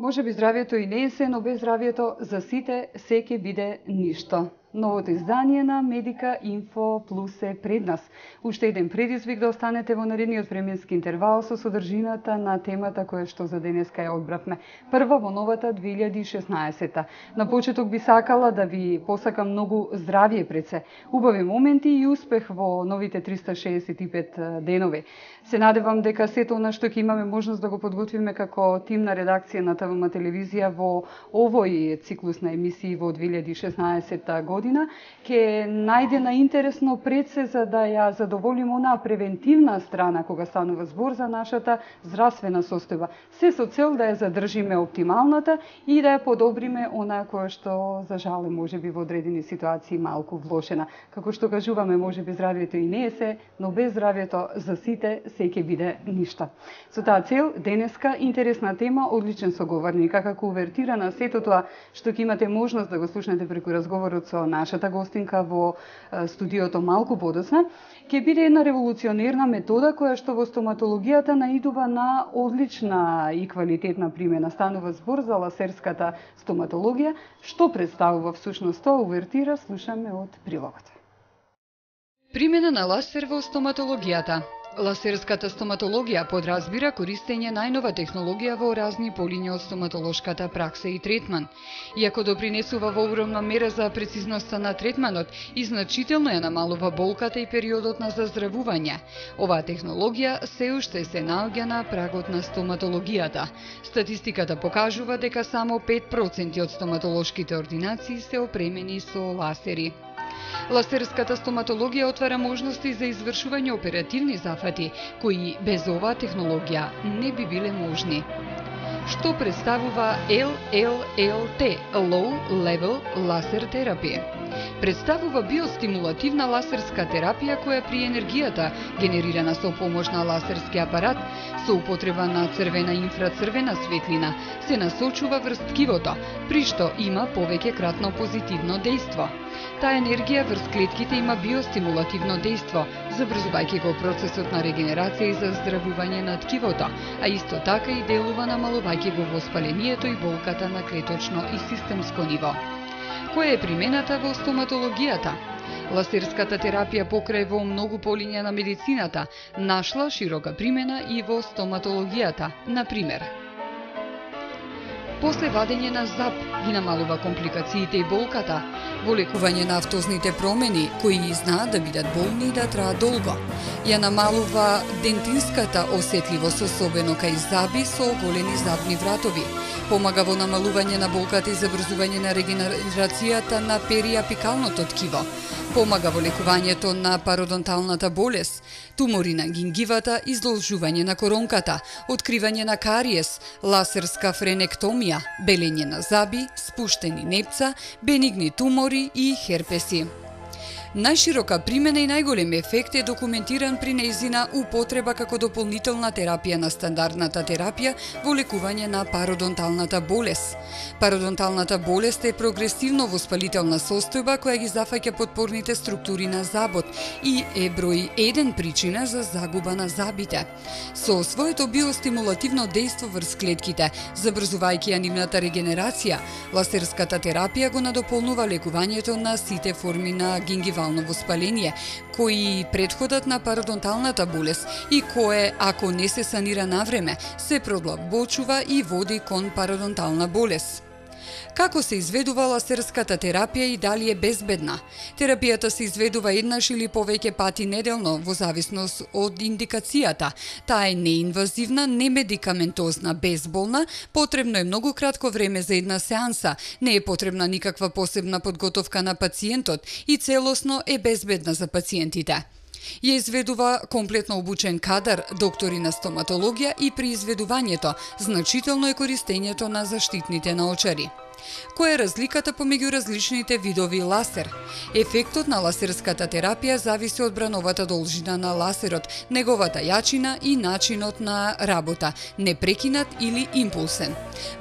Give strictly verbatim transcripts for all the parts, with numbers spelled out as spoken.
Може би здравието и не е се, но без здравието за сите се ќе биде ништо. Новото издание на Медика Инфо Плюс е пред нас. Уште еден предизвик да останете во наредниот временски интервал со содржината на темата која што за денеска ја одбравме. Прва во новата две илјади и шеснаесетта. На почеток би сакала да ви посакам многу здравје пред се, убави моменти и успех во новите триста шеесет и пет денови. Се надевам дека сето она што ќе имаме можност да го подготвиме како тим на редакција на ТВМ телевизија во овој циклус на емисии во две илјади и шеснаесетта година ќе најде на интересно пред се за да ја задоволиме онаа превентивна страна кога станува збор за нашата здравствена состојба. Се со цел да ја задржиме оптималната и да ја подобриме онаа која што за жал е можеби во одредени ситуации малку влошена. Како што кажуваме, можеби здравието и не е се, но без здравието за сите се ќе биде ништо. Со таа цел денеска интересна тема, одличен соговорник, како увертира на сето тоа што ќе имате можност да го слушнете преку разговорот со нашата гостинка во студиото малку подоцна, ќе биде една револуционерна метода која што во стоматологијата наидува на одлична и квалитетна примена. Станува збор за ласерската стоматологија. Што представува всушност тоа увертира, слушаме од прилогот. Примена на ласер во стоматологијата. Ласерската стоматологија подразбира користење најнова технологија во разни полиња од стоматолошката пракса и третман. Иако допринесува во огромна мера за прецизноста на третманот и значително ја намалува болката и периодот на заздравување, оваа технологија се уште се наоѓа на прагот на стоматологијата. Статистиката покажува дека само пет проценти од стоматолошките ординации се опремени со ласери. Ласерската стоматологија отвара можности за извршување оперативни зафати, кои без оваа технологија не би биле можни. Што представува Ел Ел Ел Т – Low Level Laser Therapy? Представува биостимулативна ласерска терапија која при енергијата, генерирана со помош на ласерски апарат, со употреба на црвена и инфрацрвена светлина, се насочува врз ткивото, при што има повеќе кратно позитивно дејство. Таа енергија врз клетките има биостимулативно дејство, забрзувајќи го процесот на регенерација и заздравување на ткивото, а исто така и делува намалувајќи го воспалението и болката на клеточно и системско ниво. Која е примената во стоматологијата? Ласерската терапија покрај во многу полиња на медицината нашла широка примена и во стоматологијата. Например, после вадење на зап ги намалува компликациите и болката, во лекување на автозните промени, кои знаат да бидат болни и да траат долго. Ја намалува дентинската осетливост, особено кај заби со оголени забни вратови. Помага во намалување на болката и забрзување на регенерацијата на периапикалното ткиво. Помага во лекувањето на пародонталната болест, тумори на гингивата, издолжување на коронката, откривање на кариес, ласерска френектомија, белење на заби, спуштени непца, бенигни тумори и херпеси. Најширока примена и најголем ефект е документиран при нејзина употреба како дополнителна терапија на стандардната терапија во лекување на пародонталната болест. Пародонталната болест е прогресивно воспалителна состојба која ги зафаќа потпорните структури на забот и е број еден причина за загуба на забите. Со своето биостимулативно дејство врз клетките, забрзувајќи ја нивната регенерација, ласерската терапија го надополнува лекувањето на сите форми на гингивално воспаление, кои предходат на пародонталната болест и кое, ако не се санира навреме, се продлабочува и води кон пародонтална болест. Како се изведува ласерската терапија и дали е безбедна? Терапијата се изведува еднаш или повеќе пати неделно во зависност од индикацијата. Таа е неинвазивна, немедикаментозна, безболна, потребно е многу кратко време за една сеанса, не е потребна никаква посебна подготовка на пациентот и целосно е безбедна за пациентите. Ја изведува комплетно обучен кадар, доктори на стоматологија и при изведувањето значително е користењето на заштитните наочари. Која е разликата помеѓу различните видови ласер? Ефектот на ласерската терапија зависи од брановата должина на ласерот, неговата јачина и начинот на работа, непрекинат или импулсен.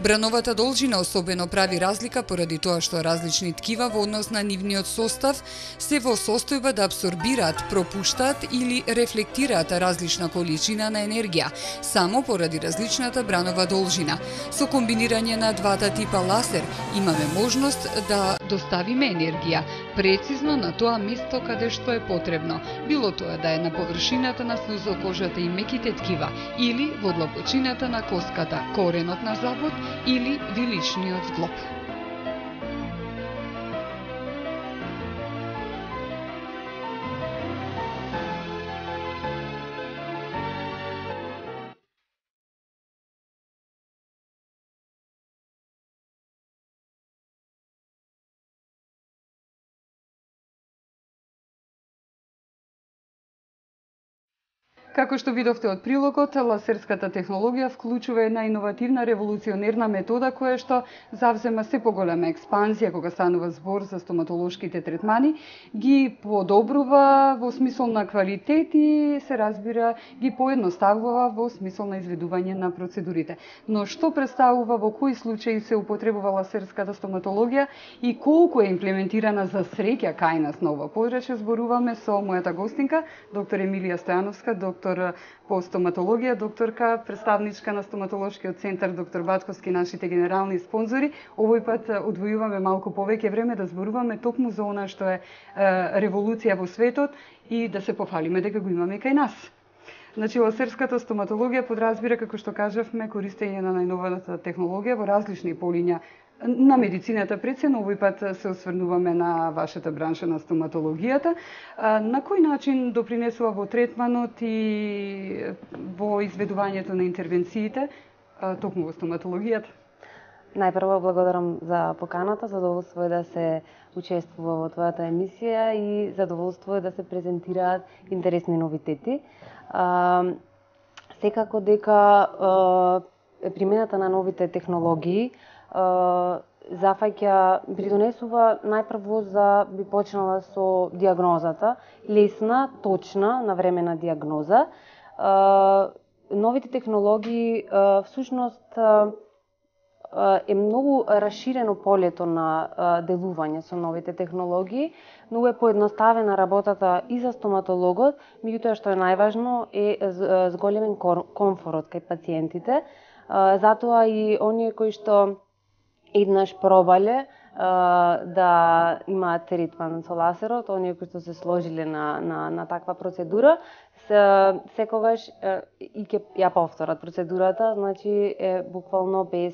Брановата должина особено прави разлика поради тоа што различни ткива во однос на нивниот состав се во состојба да абсорбираат, пропуштаат или рефлектираат различна количина на енергија, само поради различната бранова должина. Со комбинирање на двата типа ласер имаме можност да доставиме енергија прецизно на тоа место каде што е потребно, било тоа да е на површината на слузокожата и меките ткива, или во длабочината на коската, коренот на злобот или виличниот зглоб. Како што видовте од прилогот, ласерската технологија вклучува една иновативна револуционерна метода која што завзема се поголема експанзија кога станува збор за стоматолошките третмани, ги подобрува во смисол на квалитет и се разбира ги поедноставува во смисол на изведување на процедурите. Но што представува, во кои случаи се употребува ласерската стоматологија и колку е имплементирана за среќа кај нас на ова подрачје, зборуваме со мојата гостинка, доктор Емилија Стојановска, доктор по стоматологија, докторка, представничка на стоматолошкиот центар доктор Батковски, нашите генерални спонзори. Овој пат одвојуваме малку повеќе време да зборуваме токму за она што е, е револуција во светот и да се пофалиме дека го имаме кај нас. Значи, ласерската стоматологија подразбира, како што кажавме, користење на најновата технологија во различни полиња на медицината пред се, но овој пат се осврнуваме на вашата бранша на стоматологијата. На кој начин допринесува во третманот и во изведувањето на интервенциите токму во стоматологијата? Најпрво благодарам за поканата, задоволство е да се учествува во твојата емисија и задоволство е да се презентираат интересни новитети. Секако дека примената на новите технологии зафаќа, придонесува најпрво за би почнала со диагнозата, лесна, точна, навремена диагноза. Новите технологии всушност е многу расширено полето на делување со новите технологии, но е поедноставена работата и за стоматологот, меѓутоа што е најважно е зголемен комфорот кај пациентите. Затоа и оние кои што еднаш пробале да имаат третман со ласерот, оние кои што се сложиле на, на, на таква процедура, се, секогаш и ќе ја повторат процедурата, значи е буквално без,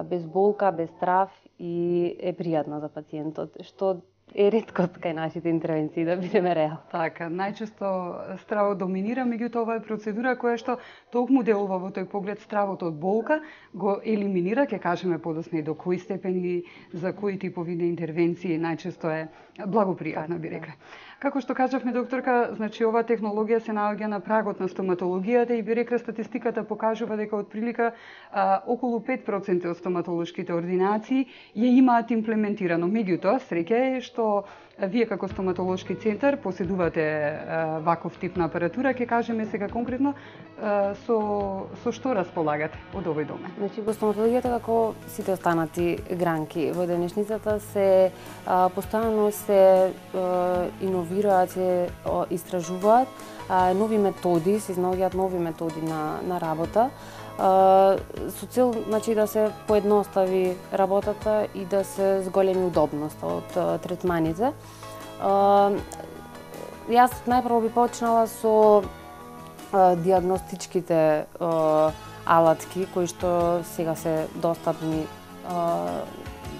без болка, без страв и е пријатна за пациентот, што е реткост кај нашите интервенции, да бидеме реал. Така, најчесто стравот доминира, меѓутоа ова е процедура која што токму делува во тој поглед стравот од болка, го елиминира, ќе кажеме подоцна и до кои степени, за кои типови на интервенции најчесто е благопријатна, би рекле. Како што кажавме, докторка, значи оваа технологија се наоѓа на прагот на стоматологијата и би рекле статистиката покажува дека отприлика а, околу пет проценти од стоматолошките ординации ја имаат имплементирано. Меѓутоа, среќа е што вие како стоматолошки центар поседувате а, ваков тип на апаратура, ќе кажеме сега конкретно а, со со што располагате од овој домен. Значи во стоматологијата, како сите останати гранки во денешницата, се а, постојано се а, иновираат, се а, истражуваат а, нови методи, се изнаоѓаат нови методи на на работа. Uh, со цел, значи, да се поедностави работата и да се зголеми удобноста од uh, третманите. Uh, јас најпрво би почнала со uh, диагностичките uh, алатки кои што сега се достапни uh,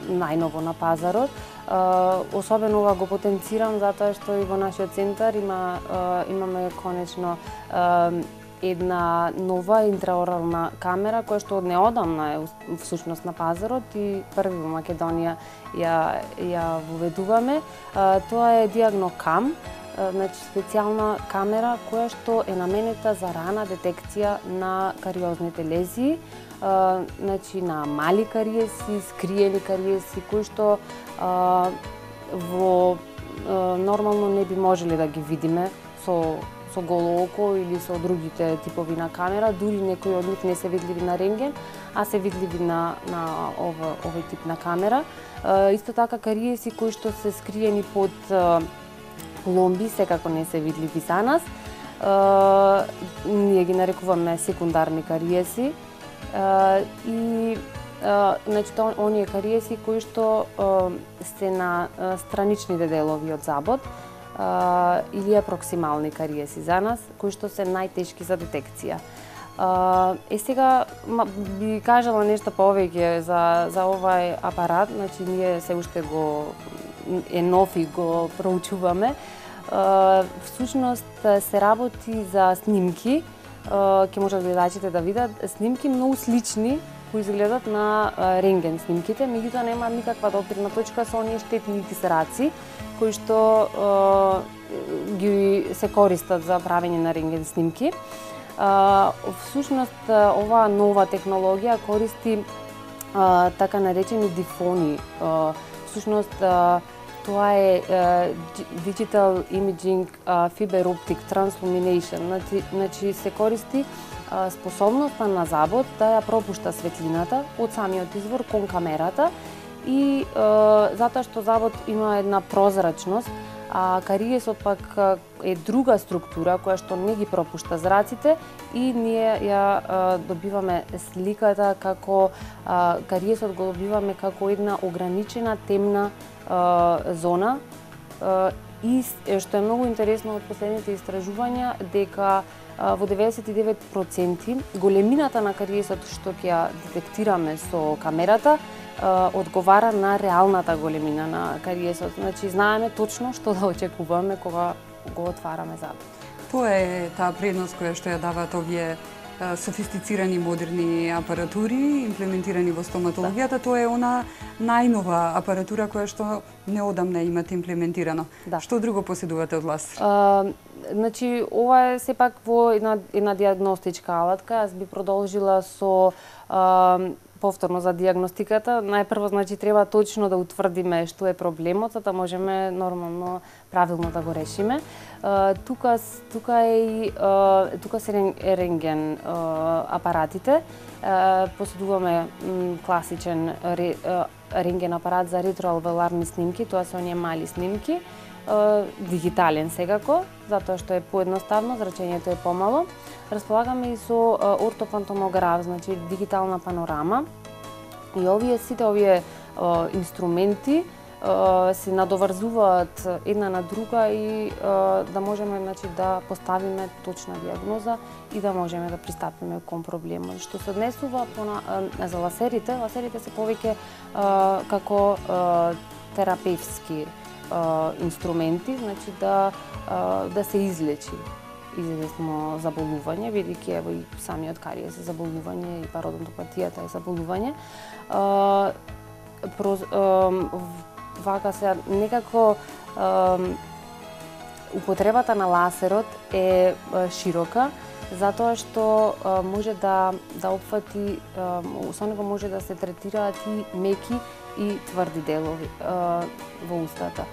најново на пазарот. Uh, особено ова го потенцирам затоа што и во нашиот центар има uh, имаме конечно uh, една нова интраорална камера која што од неодамна е всушност на пазарот и први во Македонија ја ја воведуваме. Тоа е Диагнокам, значи специјална камера која што е наменета за рана детекција на кариозните лезии. а, значи на мали кариеси, скриени кариеси кои што а, во а, нормално не би можеле да ги видиме со со голо око или со другите типови на камера, дури некои од нив не се видливи на рентген, а се видливи на на ова овој тип на камера. А, исто така кариеси кои што се скриени под а, пломби секако не се видливи за нас. Uh, ние ги нарекуваме секундарни кариеси uh, и uh, значи тоа оние кариеси кои што uh, се на uh, страничните делови од забот uh, или апроксимални кариеси за нас, кои што се најтешки за детекција. Uh, е сега би кажала нешто повеќе за за овај апарат, значи ние се уште го е нов и го проучуваме. Uh, всушност се работи за снимки, uh, ќе можат гледачите да видат снимки многу слични кои изгледат на uh, рентген снимките, меѓутоа нема никаква допирна точка со оние штетни икс-раци кои што uh, ги се користат за правење на рентген снимки. Uh, всушност оваа нова технологија користи uh, така наречени дифони. Uh, всушност uh, Тоа е uh, Digital Imaging uh, Fiber Optic Translumination. Значи, значи се користи uh, способноста на забот да ја пропушта светлината од самиот извор кон камерата и uh, затоа што забот има една прозрачност, а кариесот пак е друга структура која што не ги пропушта зраците и ние ја а, добиваме сликата како а, кариесот го добиваме како една ограничена темна а, зона а, и што е многу интересно од последните истражувања дека а, во деветдесет и девет проценти големината на кариесот што ќе ја детектираме со камерата одговара на реалната големина на кариесот. Значи, знаеме точно што да очекуваме кога го отвараме забот. Тоа е таа предност која што ја даваат овие софистицирани модерни апаратури, имплементирани во стоматологијата. Да. Тоа е она најнова апаратура која што неодамна имате имплементирано. Да. Што друго поседувате од лазер? А, значи, ова е сепак во една, една диагностичка алатка. Јас би продолжила со а, повторно за диагностиката. Најпрво, значи, треба точно да утврдиме што е проблемот, за да можеме нормално, правилно да го решиме. Uh, тука, тука е и uh, тука се рентген uh, апаратите. Uh, поседуваме м, класичен ре, uh, рентген апарат за ретроалвеоларни снимки, тоа се оние мали снимки. Uh, дигитален секако, затоа што е поедноставно, зрачењето е помало. Располагаме и со uh, ортофантомограф, значи дигитална панорама. И овие сите овие uh, инструменти uh, се надоврзуваат една на друга и uh, да можеме, значи, да поставиме точна диагноза и да можеме да пристапиме кон проблемот. Што се однесува на, uh, за ласерите, ласерите се повеќе uh, како uh, терапевски Uh, инструменти, значи да uh, да се излечи известно заболување, бидејќи ево и самиот кариес е заболување и пародонтопатијата е заболување. Uh, проз, uh, вака се некако uh, употребата на ласерот е uh, широка, затоа што uh, може да да опфати, uh, со него може да се третираат и меки и тврди делови uh, во устата.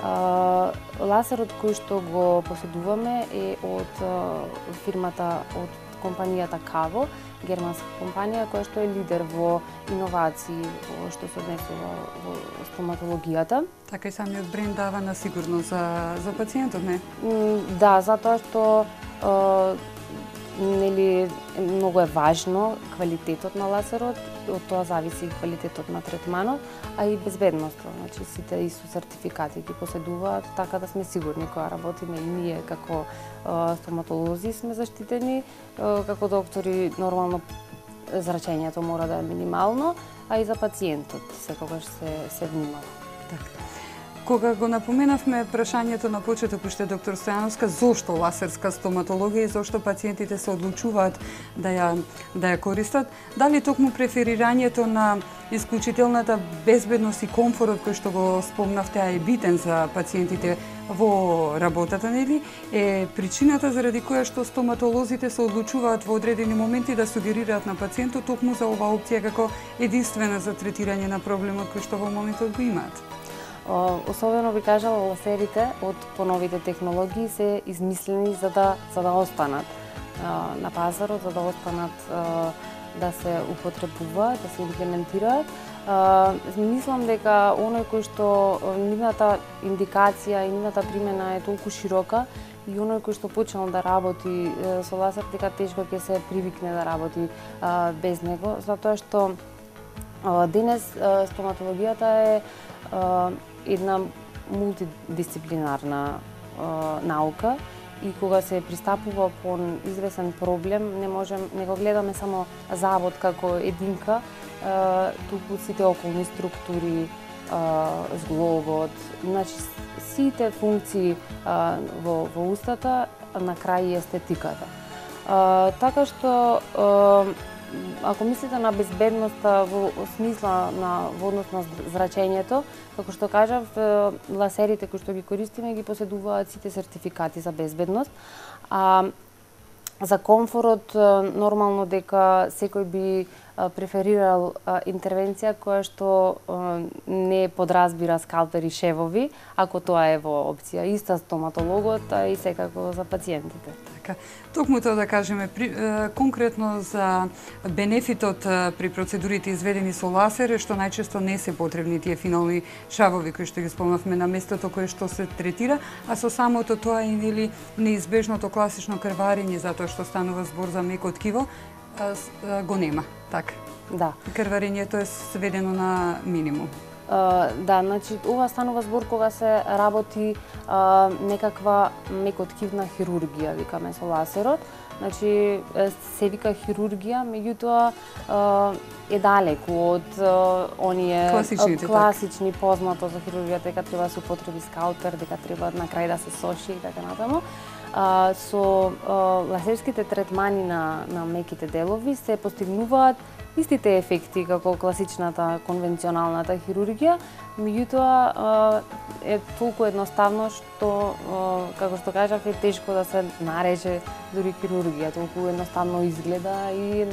Uh, ласерот кој што го поседуваме е од uh, фирмата, од компанијата Каво, германска компанија која што е лидер во иновации во што се однесува во стоматологијата. Така и самиот бренд дава на сигурност за за пациентот, не? Mm, да, затоа што uh, нели многу е важно квалитетот на ласерот, од тоа зависи квалитетот на третманот, а и безбедноста. Значи сите и со сертификати ги поседуваат, така да сме сигурни кога работиме и ние како uh, стоматолози сме заштитени, uh, како доктори нормално зрачењето мора да е минимално, а и за пациентот секогаш се се внимава. Така. Кога го напоменавме прашањето на почеток уште доктор Стојановска, зошто ласерска стоматологија и зошто пациентите се одлучуваат да ја да ја користат, дали токму преферирањето на исклучителната безбедност и комфорот кој што го спомнавте, а е битен за пациентите во работата, нели, е причината заради која што стоматолозите се одлучуваат во одредени моменти да сугерираат на пациентот токму за оваа опција како единствена за третирање на проблемот кој што во моментот го имаат. Особено би кажала, лазерите од поновите технологии се измислени за да за да останат на пазарот, за да останат да се употребуваат, да се имплементираат. Мислам дека оној кој што нивната индикација и нивната примена е толку широка и оној кој што почнал да работи со лазер, дека тешко ќе се привикне да работи без него, затоа што денес стоматологијата е една мултидисциплинарна наука и кога се пристапува кон известен проблем, не можем, не го гледаме само завод како единка, туку сите околни структури, зглобот, значи сите функции во, во устата, на крај и естетиката. Така што ако мислите на безбедноста во смисла на во однос на зрачењето, како што кажав, лазерите кои што ги користиме ги поседуваат сите сертификати за безбедност. А за комфорот нормално дека секој би преферирал интервенција која што не подразбира скалпери, шевови, ако тоа е во опција. Иста стоматологот, а и секако за пациентите. Така. Токму тоа да кажеме, при, е, конкретно за бенефитот при процедурите изведени со лазер е што најчесто не се потребни тие финални шавови кои што ги спомнавме на местото кое што се третира, а со самото тоа и нели неизбежното класично крварење, затоа што станува збор за меко ткиво, го нема, така. Да. Крварењето е сведено на минимум. Uh, да, значи ова станува збор кога се работи uh, некаква мекоткивна хирургија, викаме со лазерот. Значи се вика хирургија, меѓутоа uh, е далеку од uh, оние класични так. Познато за хирургијата дека треба да се употреби скалпер, дека треба на крај да се соши и така натаму. Uh, со uh, лазерските третмани на, на меките делови се постигнуваат истите ефекти како класичната конвенционалната хирургија, меѓутоа е толку едноставно што, како што кажав, е тешко да се нареже дури хирургија, толку едноставно изгледа и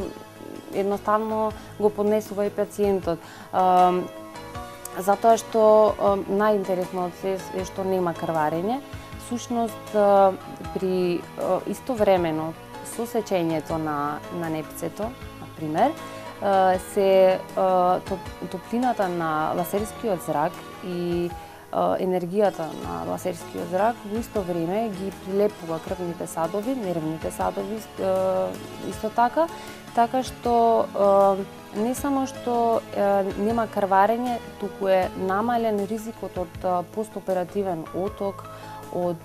едноставно го поднесува и пациентот. Затоа што најинтересно од се е што нема крварење. Сушност, при истовремено со сечењето на, на непцето, например, се топлината на лазерскиот зрак и енергијата на лазерскиот зрак во исто време ги прилепува крвните садови, нервните садови исто така, така што не само што нема крварење, туку е намален ризикот од постоперативен оток, од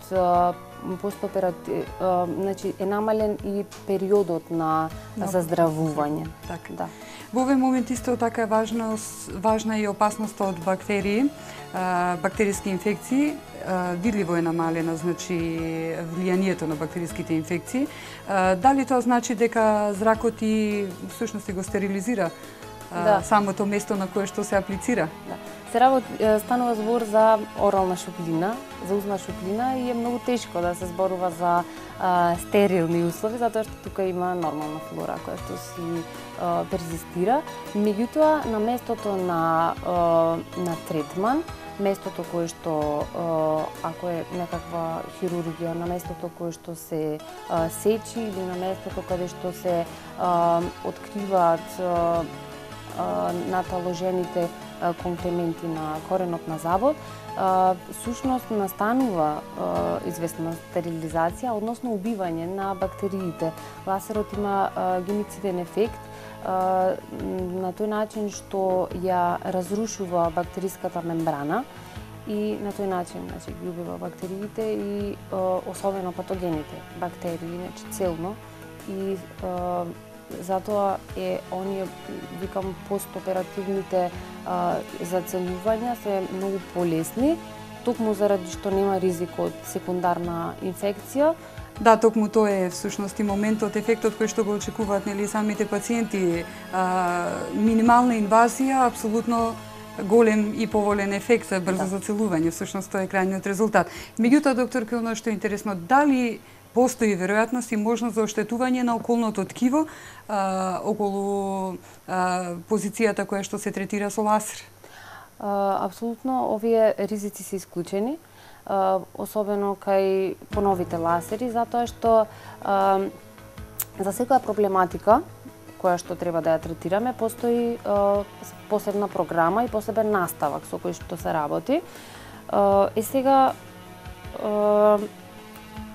постоператив, значи е намален и периодот на заздравување. Така. Да. Во овој момент исто така е важна, важна и опасноста од бактерии, бактериски инфекции. Видливо е намалена, значи, влијанието на бактериските инфекции. Дали тоа значи дека зракот и всушност го стерилизира да. самото место на кое што се аплицира? Да. Се работи, станува збор за орална шуплина, за узна шуплина и е многу тешко да се зборува за а, стерилни услови, затоа што тука има нормална флора која што си а, перзистира. Меѓутоа, на местото на, а, на третман, местото кое што, а, ако е некаква хирургија, на местото кое што се а, сечи или на местото каде што се а, откриваат а, наталожените комплементи на коренот на забот, сушност настанува известна стерилизација, односно убивање на бактериите. Лазерот има гемициден ефект на тој начин што ја разрушува бактериската мембрана и на тој начин, значи, ги убива бактериите и особено патогените бактерии, значи целно, и затоа е оние, викам, постоперативните а, зацелувања се многу полесни, токму заради што нема ризик од секундарна инфекција. Да, токму тоа е всушност и моментот, ефектот кој што го очекуваат, нели, самите пациенти. А, минимална инвазија, апсолутно голем и поволен ефект за брзо Да. зацелување, всушност тоа е крајниот резултат. Меѓутоа, докторке, оно што е интересно, дали постои веројатност и можност за оштетување на околното ткиво а, околу а, позицијата која што се третира со лазер? А, апсолутно, овие ризици се исклучени, а, особено кај поновите лазери, затоа што а, за секоја проблематика која што треба да ја третираме, постои а, посебна програма и посебен наставак со кој што се работи. А, е сега, а,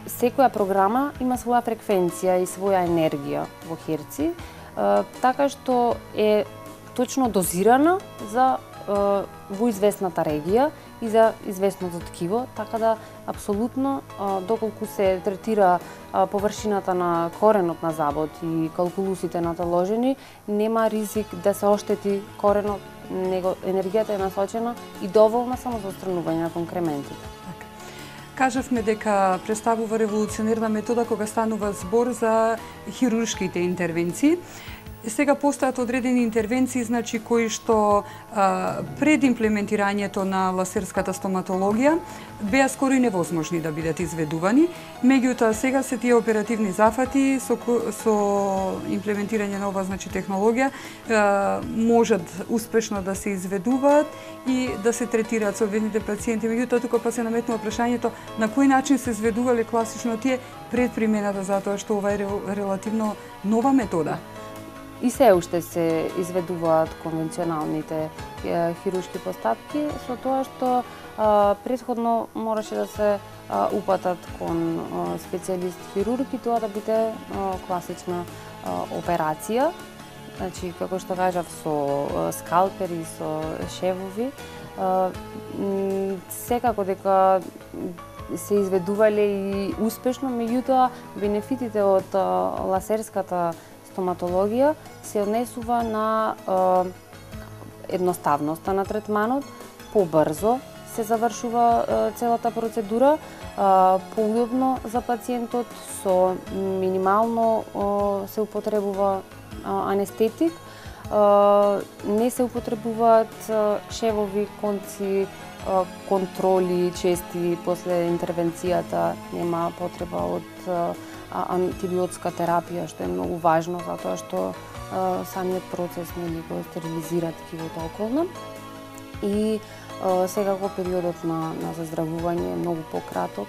секоја програма има своја фреквенција и своја енергија во херци, а, така што е точно дозирана за а, во известната регија и за известното ткиво, така да апсолутно а, доколку се третира а, површината на коренот на забот и калкулусите наталожени, нема ризик да се оштети коренот, него енергијата е насочена и доволна само за отстранување на конкрементите. Кажавме дека представува револуционерна метода кога станува збор за хируршките интервенции. Сега постојат одредени интервенции, значи кои што а, пред имплементирањето на лазерската стоматологија беа скоро и невозможни да бидат изведувани. Меѓутоа сега се тие оперативни зафати со, со имплементирање на ова значи технологија а, можат успешно да се изведуваат и да се третираат соодветните пациенти. Меѓутоа тука па се наметнува прашањето на кој начин се изведувале класично тие пред примената, затоа што ова е релативно нова метода. И се уште се изведуваат конвенционалните е, хируршки постапки, со тоа што а, претходно мораше да се а, упатат кон а, специјалист хирург и тоа да биде а, класична а, операција. Значи, како што кажав, со а, скалпери, со шевови. А, секако дека се изведувале и успешно, меѓутоа бенефитите од а, лазерската стоматологија се однесува на е, едноставноста на третманот, побрзо се завршува е, целата процедура, е, поудобно за пациентот, со минимално е, се употребува е, анестетик, е, не се употребуваат е, шевови, конци, е, контроли чести после интервенцијата, нема потреба од е, антибиотска терапија, што е многу важно, затоа што а, самиот процес нели го стерилизира ткивото околно. И а, секако периодот на, на заздравување е многу пократок.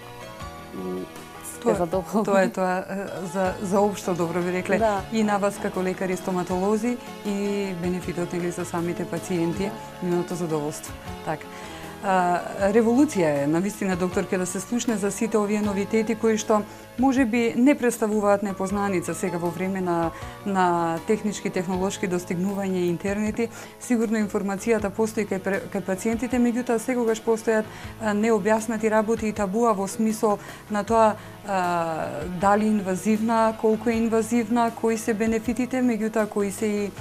Тоа, тоа е тоа за, за општо добро би рекле, да. И на вас како лекари стоматолози и бенефитот нели за самите пациенти, нивното задоволство. Така. А, револуција е, навистина, докторке, да се слушне за сите овие новитети кои што може би не представуваат непознаница сега во време на, на технички, технолошки достигнувања и интернети. Сигурно информацијата постои кај, кај пациентите, меѓутоа секогаш постојат необјаснати работи и табуа во смисол на тоа а, дали инвазивна, колку е инвазивна, кои се бенефитите, меѓутоа кои се и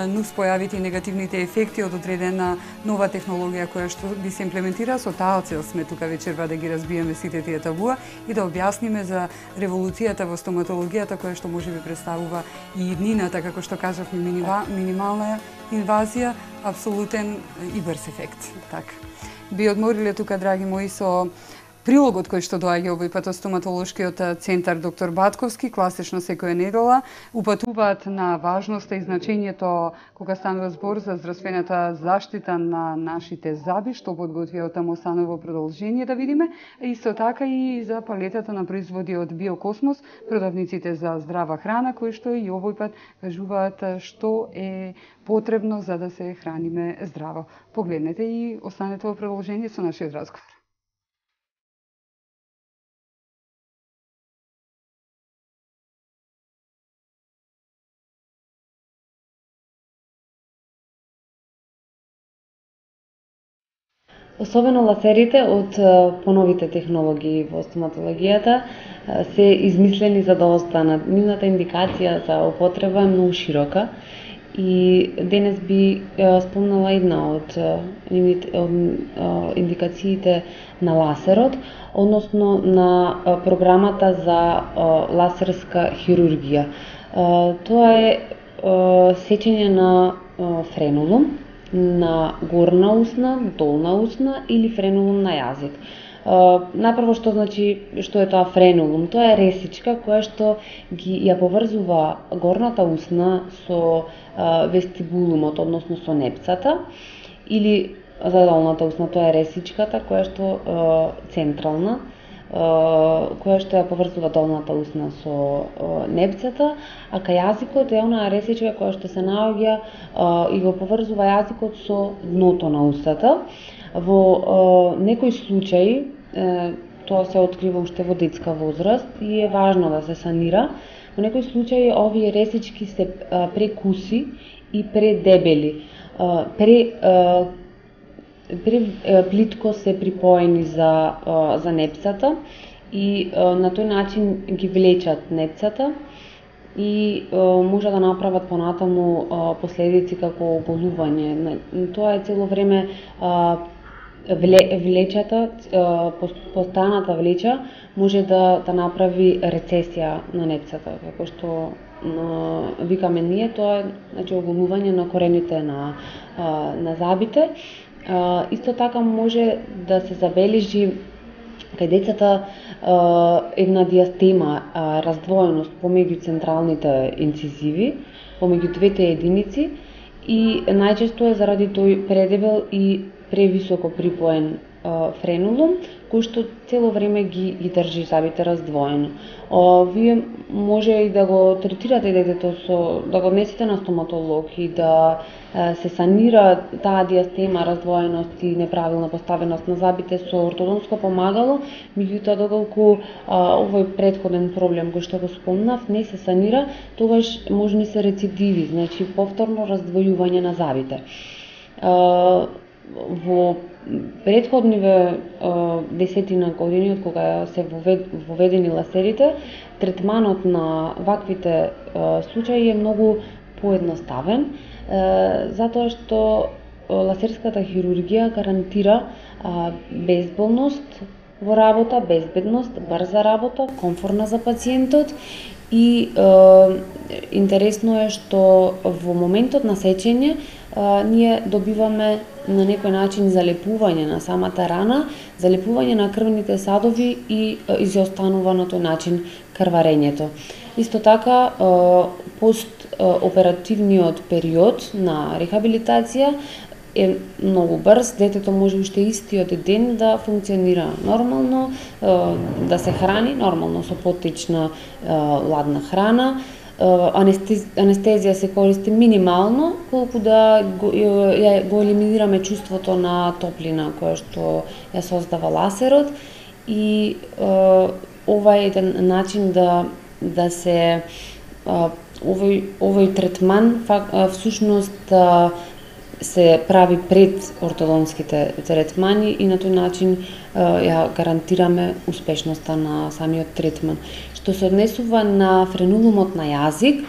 нуспојавите и негативните ефекти од одредена нова технологија која што би се имплементира. Со таа цел сме тука вечерва да ги разбиеме сите тие табуа и да објасниме за револуцијата во стоматологијата која што може би представува и иднината, како што кажавме, минимална инвазија, апсолутен и брз ефект. Така. Би одмориле тука, драги мои, со прилогот кој што доаѓа овој пат од стоматолошкиот центар доктор Батковски, класично секоја недела, упатуваат на важноста и значењето кога станува збор за здравствената заштита на нашите заби, што подготвија таму станово продолжение да видиме, исто така и за палетата на производи од Биокосмос, продавниците за здрава храна, кои што и овој пат кажуваат што е потребно за да се храниме здраво. Погледнете и останете во продолжение со нашиот разговор. Особено лазерите од поновите технологии во стоматологијата се измислени за да останат. Нивната индикација за употреба е многу широка и денес би спомнала една од, од индикациите на лазерот, односно на програмата за лазерска хирургија. Тоа е сечење на френулум на горна усна, долна усна или френулум на јазик. Uh, Најпрво што значи што е тоа френулум? Тоа е ресичка која што ги ја поврзува горната усна со uh, вестибулумот, односно со непцата, или за долната усна тоа е ресичката која што uh, централна, uh, која што ја поврзува долната усна со uh, непцата, а кај јазикот е онаа ресичка која што се наоѓа uh, и го поврзува јазикот со дното на устата. Во uh, некои случаи тоа се открива уште во детска возраст и е важно да се санира. Во некои случаи овие ресички се прекуси и предебели. Пре, пре плитко се припоени за, за непцата и на тој начин ги влечат непцата и може да направат понатаму последици како оголување. Тоа е цело време влечата, постојаната влеча може да, да направи рецесија на непцата, како што no, викаме ние, тоа е значи, оголување на корените на, на забите. Исто така може да се забележи кај децата една диастема, раздвоеност помеѓу централните инцизиви, помеѓу двете единици, и најчесто е заради тој предебел и превисоко припоен а, френулум, кој што цело време ги, ги држи забите раздвоено. А, вие може и да го третирате детето со, да го однесете на стоматолог и да а, се санира таа диастема, раздвоеност и неправилна поставеност на забите со ортодонско помагало, меѓутоа доколку а, овој претходен проблем кој што го спомнав не се санира, тогаш можни се рецидиви, значи повторно раздвојување на забите. А, Во претходниве десетина години од кога се воведени ласерите, третманот на ваквите случаи е многу поедноставен, затоа што ласерската хирургија гарантира безболност во работа, безбедност, брза работа, комфортна за пациентот и интересно е што во моментот на сечење ние добиваме на некој начин залепување на самата рана, залепување на крвните садови и изостанува на тој начин крварењето. Исто така, постоперативниот период на рехабилитација е многу брз, детето може уште истиот ден да функционира нормално, да се храни нормално со поттечна ладна храна. Анестезија се користи минимално, колку да го, го елиминираме чувството на топлина која што ја создава ласерот, и ова е еден начин да да се овој овој третман всушност се прави пред ортодонските третмани и на тој начин ја гарантираме успешноста на самиот третман. Што се однесува на френулумот на јазик,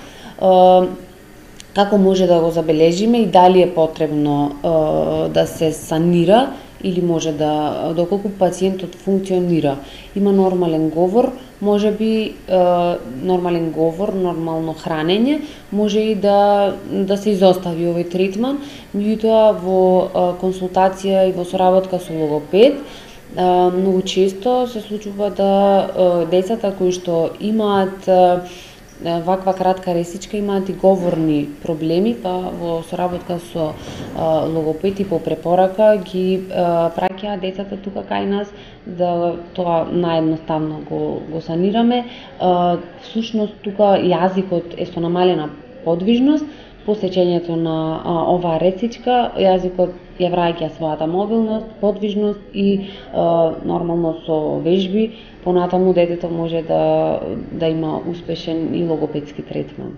како може да го забележиме и дали е потребно да се санира или може да, доколку пациентот функционира, има нормален говор, може би нормален говор, нормално хранење, може и да да се изостави овој третман, меѓутоа во консултација и во соработка со логопед многу често се случува да децата кои што имаат ваква кратка ресичка имаат и говорни проблеми, па во соработка со логопед и по препорака ги праќаат децата тука кај нас да тоа наједноставно го, го санираме. Всушност тука јазикот е со намалена подвижност. По сечењето на а, оваа ресичка, јазикот ја враќа својата мобилност, подвижност и а, нормално со вежби, понатаму детето може да, да има успешен и логопедски третман.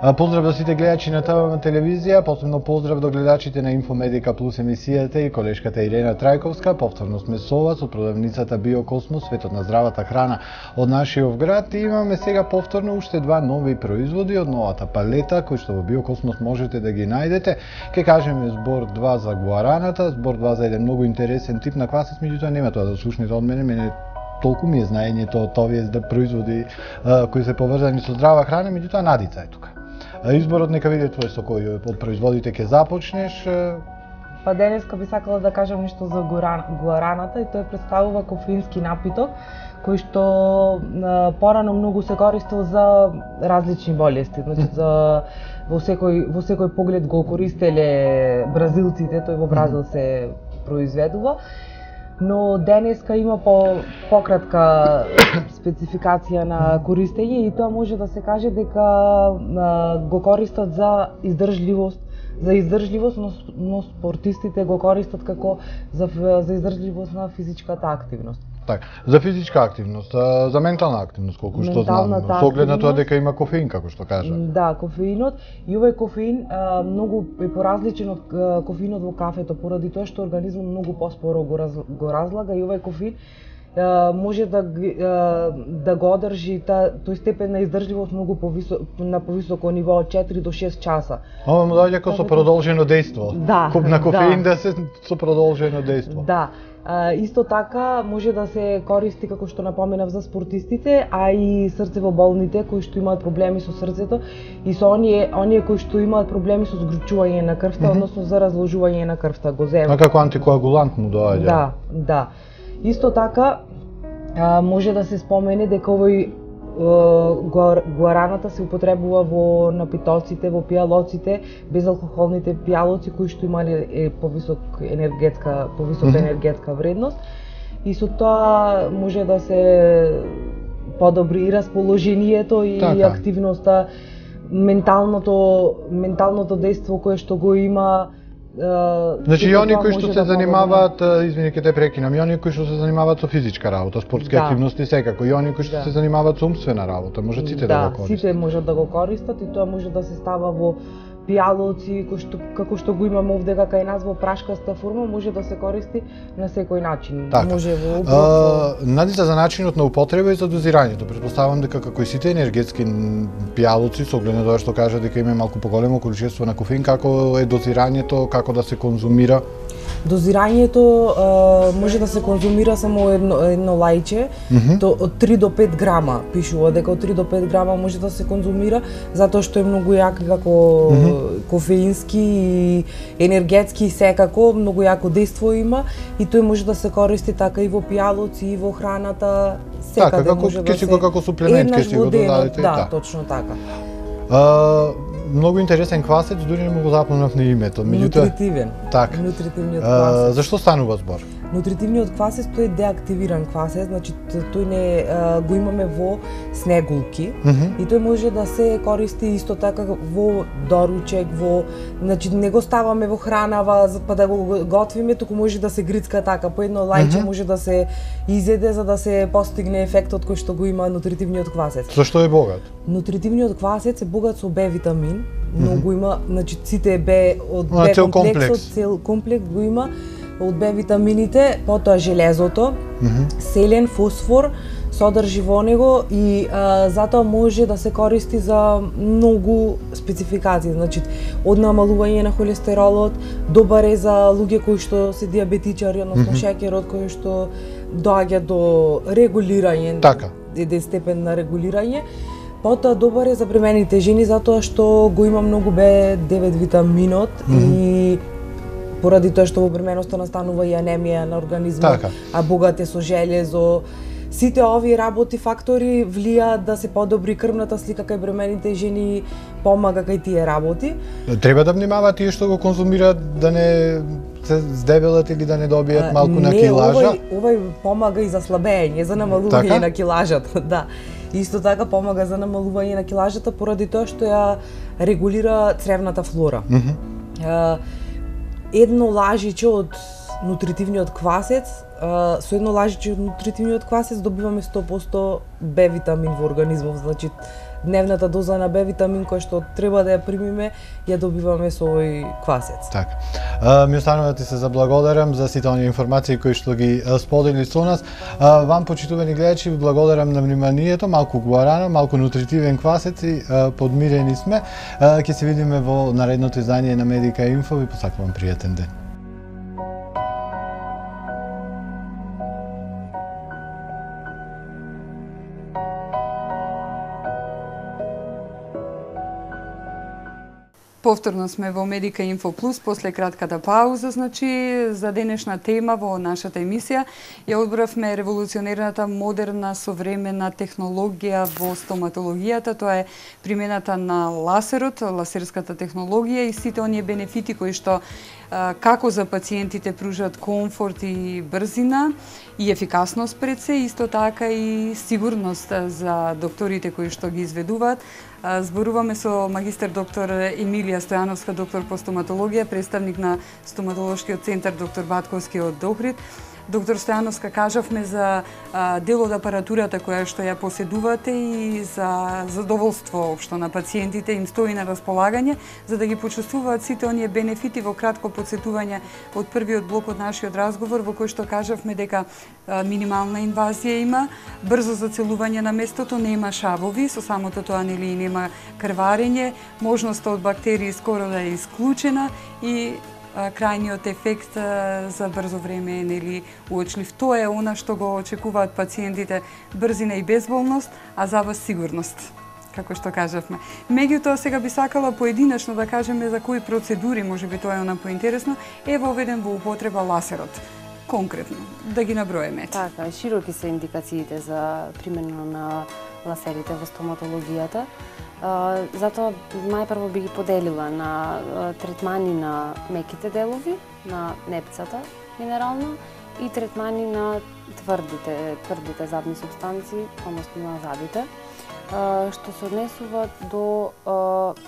Поздрав до сите гледачи на ТВ телевизија, посебно поздрав до гледачите на Инфомедика Плюс емисијата и колешката Ирена Трајковска. Повторно сме со вас од продавницата Биокосмос, светот на здравата храна од нашиот град. И имаме сега повторно уште два нови производи од новата палета, кои што во Биокосмос можете да ги најдете. Ке кажеме збор два за гуараната, збор два за еден многу интересен тип на квасец, меѓутоа нема тоа да слушнете од мене, мене толку ми е знаењето од овие производи а, кои се поврзани со здрава храна, меѓутоа Надица е тука. А, изборот нека биде твој, со кој од производите ќе започнеш. Па денеска би сакала да кажам нешто за гуараната и тој представува кофеински напиток кој што а, порано многу се користел за различни болести, значи за во секој во секој поглед го користеле бразилците, тој во Бразил се произведува. Но денеска има по пократка спецификација на користење и тоа може да се каже дека а, го користат за издржливост, за издржливост, но, но спортистите го користат како за, за издржливост на физичката активност. Така, за физичка активност, за ментална активност, колку што знам, со оглед на тоа дека има кофеин, како што кажа. Да, кофеинот и овој кофеин а, многу е поразличен од а, кофеинот во кафето, поради тоа што организмот многу поспоро го, раз, го разлага и овој кофеин а, може да а, да го одржи та, тој степен на издржливост многу повисо, на повисоко ниво од четири до шест часа. Ова му доаѓа како со продолжено дејство. Да, Куп на кофеин да. да се со продолжено дејство. Да. А, исто така може да се користи, како што напоменав, за спортистите, а и срцево-болните кои што имаат проблеми со срцето и со оние оние кои што имаат проблеми со згручување на крвта, mm -hmm. односно за разложување на крвта, го земат. А како антикоагулант му доаѓа? Да, да. Исто така а, може да се спомене дека овој гуараната се употребува во напитоците, во пијалоците, безалкохолните пијалоци кои што имале е повисок енергетска, повисока mm -hmm. енергетска вредност и со тоа може да се подобри и расположението и така. Активноста, менталното менталното дејство кое што го има. Uh, значи и оние кои што се да занимаваат, извини ќе те прекинам, и оние кои што се занимаваат со физичка работа, спортски да. Активности секако, и оние кои што да. Се занимаваат со умствена работа, може сите да, да го користат. Да, сите можат да го користат и тоа може да се става во пијалоци, кој што како што го имаме овде кај нас во прашкаста форма, може да се користи на секој начин. Така. Може во оброк. Надица за начинот на употреба и за дозирањето. Претпоставам дека како и сите енергетски пијалоци, со оглед на тоа што кажа дека има малку поголемо количество на кофеин, како е дозирањето, како да се конзумира? Дозирањето а, може да се конзумира само едно, едно лајче, mm -hmm. то, од три до пет грама, пишува дека од три до пет грама може да се конзумира, затоа што е многу јак како mm -hmm. кофеински и енергетски секако, многу јако дејство има и тој може да се користи така и во пијалоци и во храната, секаде така, како, може да се... како суплемент ке си го додадете. Да, да, точно така. А, многу интересен квасец, дури не му го запомнав на името. Нутритивен. Так. Нутритивниот квасец. Зашто станува збор? Нутритивниот квасец тој е деактивиран квасец, значи тој не а, го имаме во снегулки mm -hmm. и тој може да се користи исто така во доручек, во значи не го ставаме во хранава па да го готвиме, туку може да се грицка така по едно лајче mm -hmm. може да се изеде за да се постигне ефектот кој што го има нутритивниот квасец. Зашто е богат? Нутритивниот квасец е богат со Б витамин, многу mm -hmm. има, значи сите Б од Б комплексот, комплексот, цел комплекс го има од Б витамините, потоа железото, mm -hmm. селен, фосфор содржи во него и а, затоа може да се користи за многу спецификации, значи од намалување на холестеролот, добар е за луѓе кои што се диабетичари, односно mm -hmm. шеќерот кој што доаѓа до регулирање, така. Еден степен на регулирање. Потоа добар е за бремените жени затоа што го има многу Б девет витаминот mm -hmm. и поради тоа што во бременоста настанува и анемија на организмот, така. А богат е со железо. Сите овие работи, фактори влијаат да се подобри крвната слика кај бремените жени, помага кај тие работи. Треба да внимаваат тие што го конзумираат да не се здебелат или да не добијат малку не, на килажа? Не, овој, овој помага и за слабење, за намалување така? На килажата, да. Исто така помага за намалување на килажата поради тоа што ја регулира цревната флора. Mm -hmm. Едно лажиче од нутритивниот квасец, со едно лажиче од нутритивниот квасец добиваме сто проценти Б витамин во организмов, значи дневната доза на Б витамин кој што треба да ја примиме, ја добиваме со овој квасец. Така. А, ми останува да ти се заблагодарам за сите оние информации кои што ги сподели со нас. А, вам, почитувани гледачи, ви благодарам на вниманието, малку гуарана, малку нутритивен квасец и а, подмирени сме. Ќе се видиме во наредното издание на Медика Инфо. Ви посакувам пријатен ден. Повторно сме во Медика Инфо Плюс после кратката пауза, значи за денешна тема во нашата емисија ја одбравме револуционерната модерна современа технологија во стоматологијата, тоа е примената на ласерот, ласерската технологија и сите оние бенефити кои што како за пациентите пружат комфорт и брзина и ефикасност пред се, исто така и сигурност за докторите кои што ги изведуваат. Зборуваме со магистер доктор Емилија Стојановска, доктор по стоматологија, представник на стоматолошкиот центар доктор Батковски од Охрид. Доктор Стојановска, кажавме за дел од апаратурата која што ја поседувате и за задоволство општо на пациентите им стои на располагање за да ги почувствуваат сите оние бенефити. Во кратко подсетување од првиот блок од нашиот разговор во кој што кажавме дека минимална инвазија има, брзо зацелување на местото, нема шавови, со самото тоа нели нема крварење, можноста од бактерии скоро да е исклучена и крајниот ефект за брзо време е нели уочлив. Тоа е она што го очекуваат пациентите, брзина и безболност, а за вас сигурност, како што кажавме. Меѓутоа сега би сакала поединечно да кажеме за кои процедури, можеби тоа е она поинтересно, е воведен во употреба ласерот. Конкретно, да ги наброеме. Така, широки се индикациите за примена на ласерите во стоматологијата. Затоа најпрво би ги поделила на третмани на меките делови, на непцата минерална и третмани на тврдите, тврдите забни субстанции, односно на забите. Што се однесува до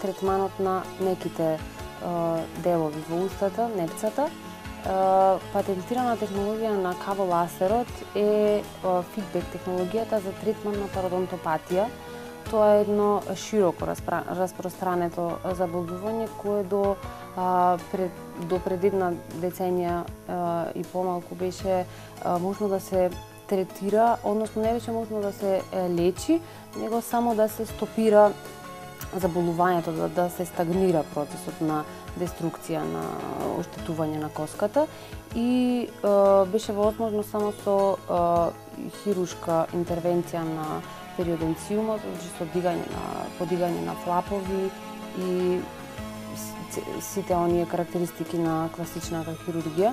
третманот на меките делови во устата, непцата, патентирана технологија на каволасерот е фидбек технологијата за третман на пародонтопатија. Тоа е едно широко распространето заболдување кое до а, пред, до пред една деценија а, и помалку беше а, можно да се третира, односно не беше можно да се лечи, него само да се стопира заболувањето, да, да се стагнира процесот на деструкција, на оштетување на коската и а, беше возможно само со а, хирушка интервенција на периодонциумот, значи со дигање на подигање на флапови и сите оние карактеристики на класичната хирургија.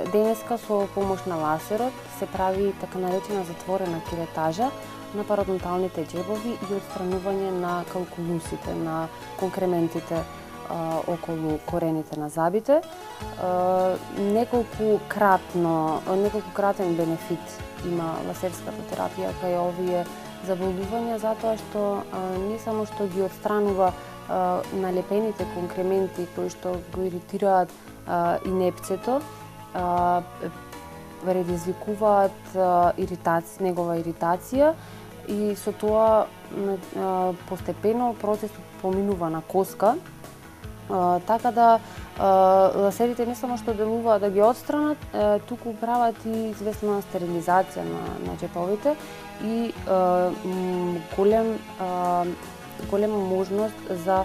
Денеска со помош на ласерот се прави така наречена затворена керетажа на пародонталните џебови и отстранување на калкулусите, на конкрементите а, околу корените на забите. А, неколку кратно, неколку кратен бенефит има ласерската терапија кај овие заболдувања, затоа што а, не само што ги отстранува а, налепените конкременти кои што го иритираат а, и непцето, а, предизвикуваат а, иритација, негова иритација и со тоа а, постепено процесот поминува на коска, а, така да а, ласерите не само што делуваат да ги отстранат, а, туку прават и известна стерилизација на, на џеповите и а, голем а, голема можност за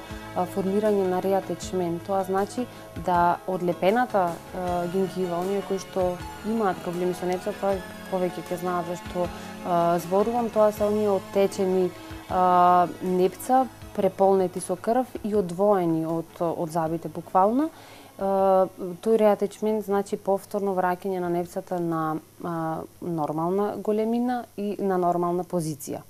формирање на реатечмент. Тоа значи да одлепената а, гингива, оние кои што имаат проблеми со непцата, повеќе ќе знаат зашто а, зборувам, тоа се оние оттечени а, непца, преполнети со крв и одвоени од, од забите буквално. А, тој реатечмент значи повторно враќање на непцата на а, нормална големина и на нормална позиција.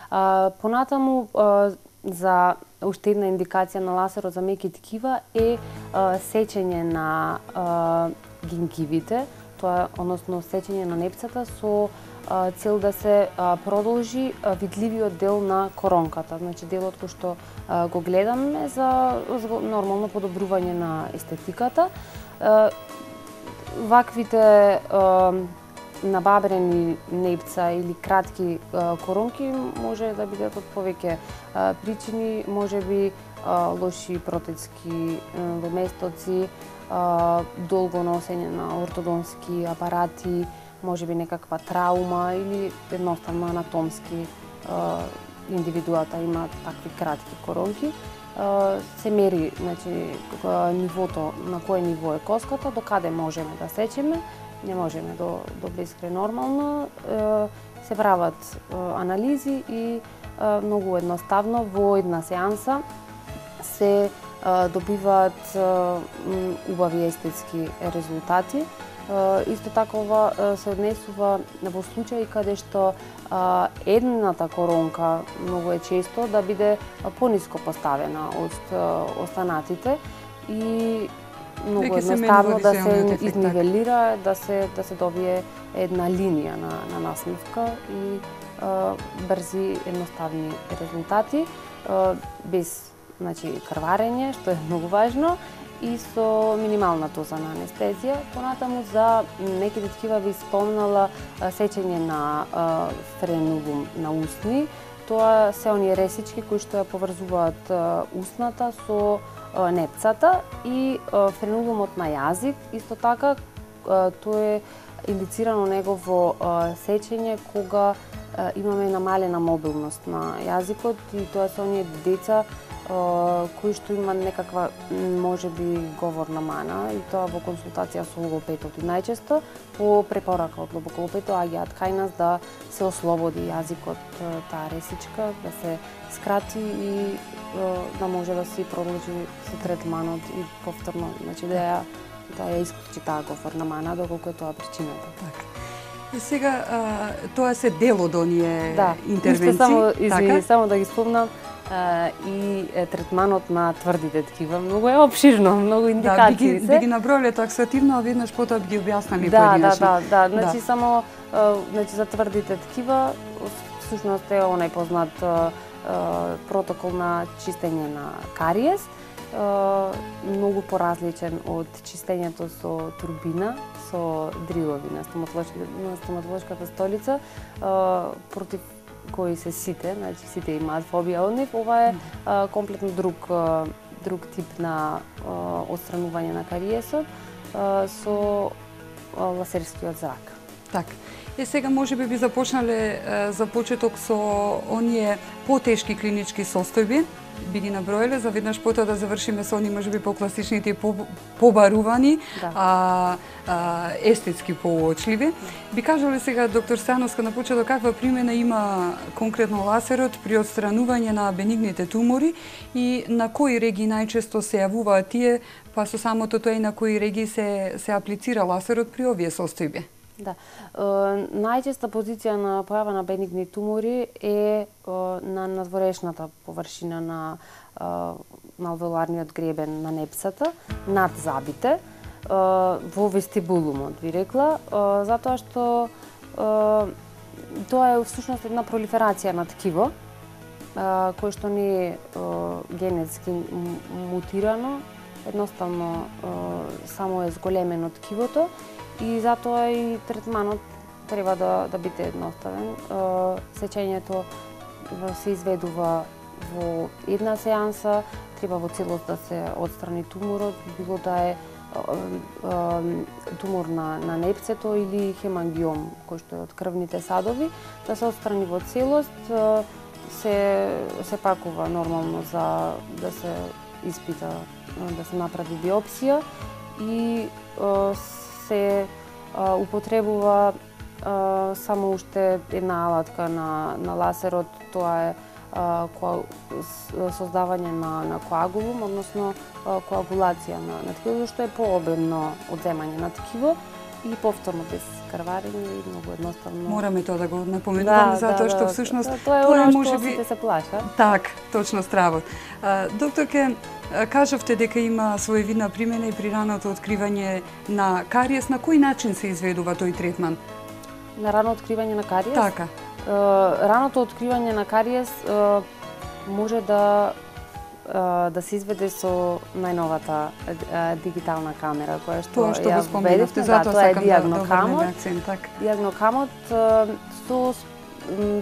А, понатаму а, за уште една индикација на ласерот за меки ткива е а, сечење на а, гингивите, тоа односно сечење на непцата со а, цел да се а, продолжи а, видливиот дел на коронката, значи делот кој што а, го гледаме за, за нормално подобрување на естетиката. А, ваквите а, набабрени непца или кратки коронки може да бидат од повеќе причини, можеби лоши протецки доместоци, долго носење на ортодонски апарати, можеби некаква траума или едноставно анатомски индивидуата имаат такви кратки коронки. Се мери, значи, нивото, на кое ниво е коската, до каде можеме да сечеме, не можеме до, до безкрај нормално. Се прават анализи и многу едноставно во една сеанса се добиваат убави естетски резултати. Исто така ова се однесува во случаи каде што едната коронка многу е често да биде пониско поставена од останатите и многу едноставно да се изнивелира, да се да се добие една линија на на насмивка и а, брзи едноставни резултати а, без, значи, крварење, што е многу важно, и со минимална доза на анестезија. Понатаму за неките такива ви спомнала сечење на френулум на усни. Тоа се оние ресички кои што ја поврзуваат усната со непцата и френулумот на јазик. Исто така тоа е индицирано негово сечење кога имаме намалена мобилност на јазикот и тоа се оние деца кои што имаат некаква можеби говорна мана и тоа во консултација со логопедот. И најчесто по препорака од логопедот аѓаат кај нас да се ослободи јазикот таа ресичка, да се скрати и да може да се продолжи со третманот и повторно, значи да ја да ја исклучи таа говорна мана доколку е тоа причината. Така. И сега а, тоа се дел од оние да, интервенции. Само, извини, така? само да ги спомнам, Uh, и е, третманот на тврдите ткива многу е опширно, многу индикации да, се. Би ги наброиле таксативно, а веднаш потоа би ги објаснали да, поединечно. Да, да, да, значи да. само uh, значи за тврдите ткива всушност е онај познат uh, uh, протокол на чистење на кариес, uh, многу поразличен од чистењето со турбина, со дрилови на стоматолошката столица, uh, против кои се сите, значи сите имаат фобија од нив. Ова е а, комплетно друг а, друг тип на а, отстранување на кариесот а, со а, лазерскиот зрак. Така. Е сега можеби би започнале а, за почеток со оние потешки клинички состојби, би ги наброиле, за веднаш потоа да завршиме со оние можеби покласичните побарувани, да. а, а, естетски поочливи. Би кажале сега доктор Стојановска на почеток каква примена има конкретно лазерот при отстранување на бенигните тумори и на кои регии најчесто се јавуваат тие, па со самото тоа и на кои регии се се аплицира лазерот при овие состојби? Да. Е, најчеста позиција на појава на бенигни тумори е, е на надворешната површина на е, малвеоларниот гребен на непсата, над забите, е, во вестибулумот, би рекла, е, затоа што е, тоа е всушност една пролиферација на ткиво, е, кој што не е, е генетски мутирано, едноставно е, само е зголемено ткивото, и затоа и третманот треба да, да биде едноставен. Сечењето се изведува во една сеанса, треба во целост да се отстрани туморот, било да е тумор на, на непцето или хемангиом, кој што е од крвните садови, да се отстрани во целост, се, се пакува нормално за да се испита, да се направи биопсија и се а, употребува а, само уште една алатка на, на лазерот, тоа е а, коа, создавање на, на коагулум, односно а, коагулација на, на ткиво, што е пообемно одземање на ткиво и повторно без крварење и многу едноставно. Мораме тоа да го напоменуваме, да, затоа да, што да, всушност да, тоа е тоа оно може што би сите се плаша. Так, точно страво. Докторке, кажавте дека има своевидна примена и при раното откривање на кариес. На кој начин се изведува тој третман? На рано откривање на кариес? Така. Раното откривање на кариес може да да се изведе со најновата дигитална камера која што тоа што ја го споменавте, затоа тоа е сакам диагнокамот. да акцент, так. Диагнокамот со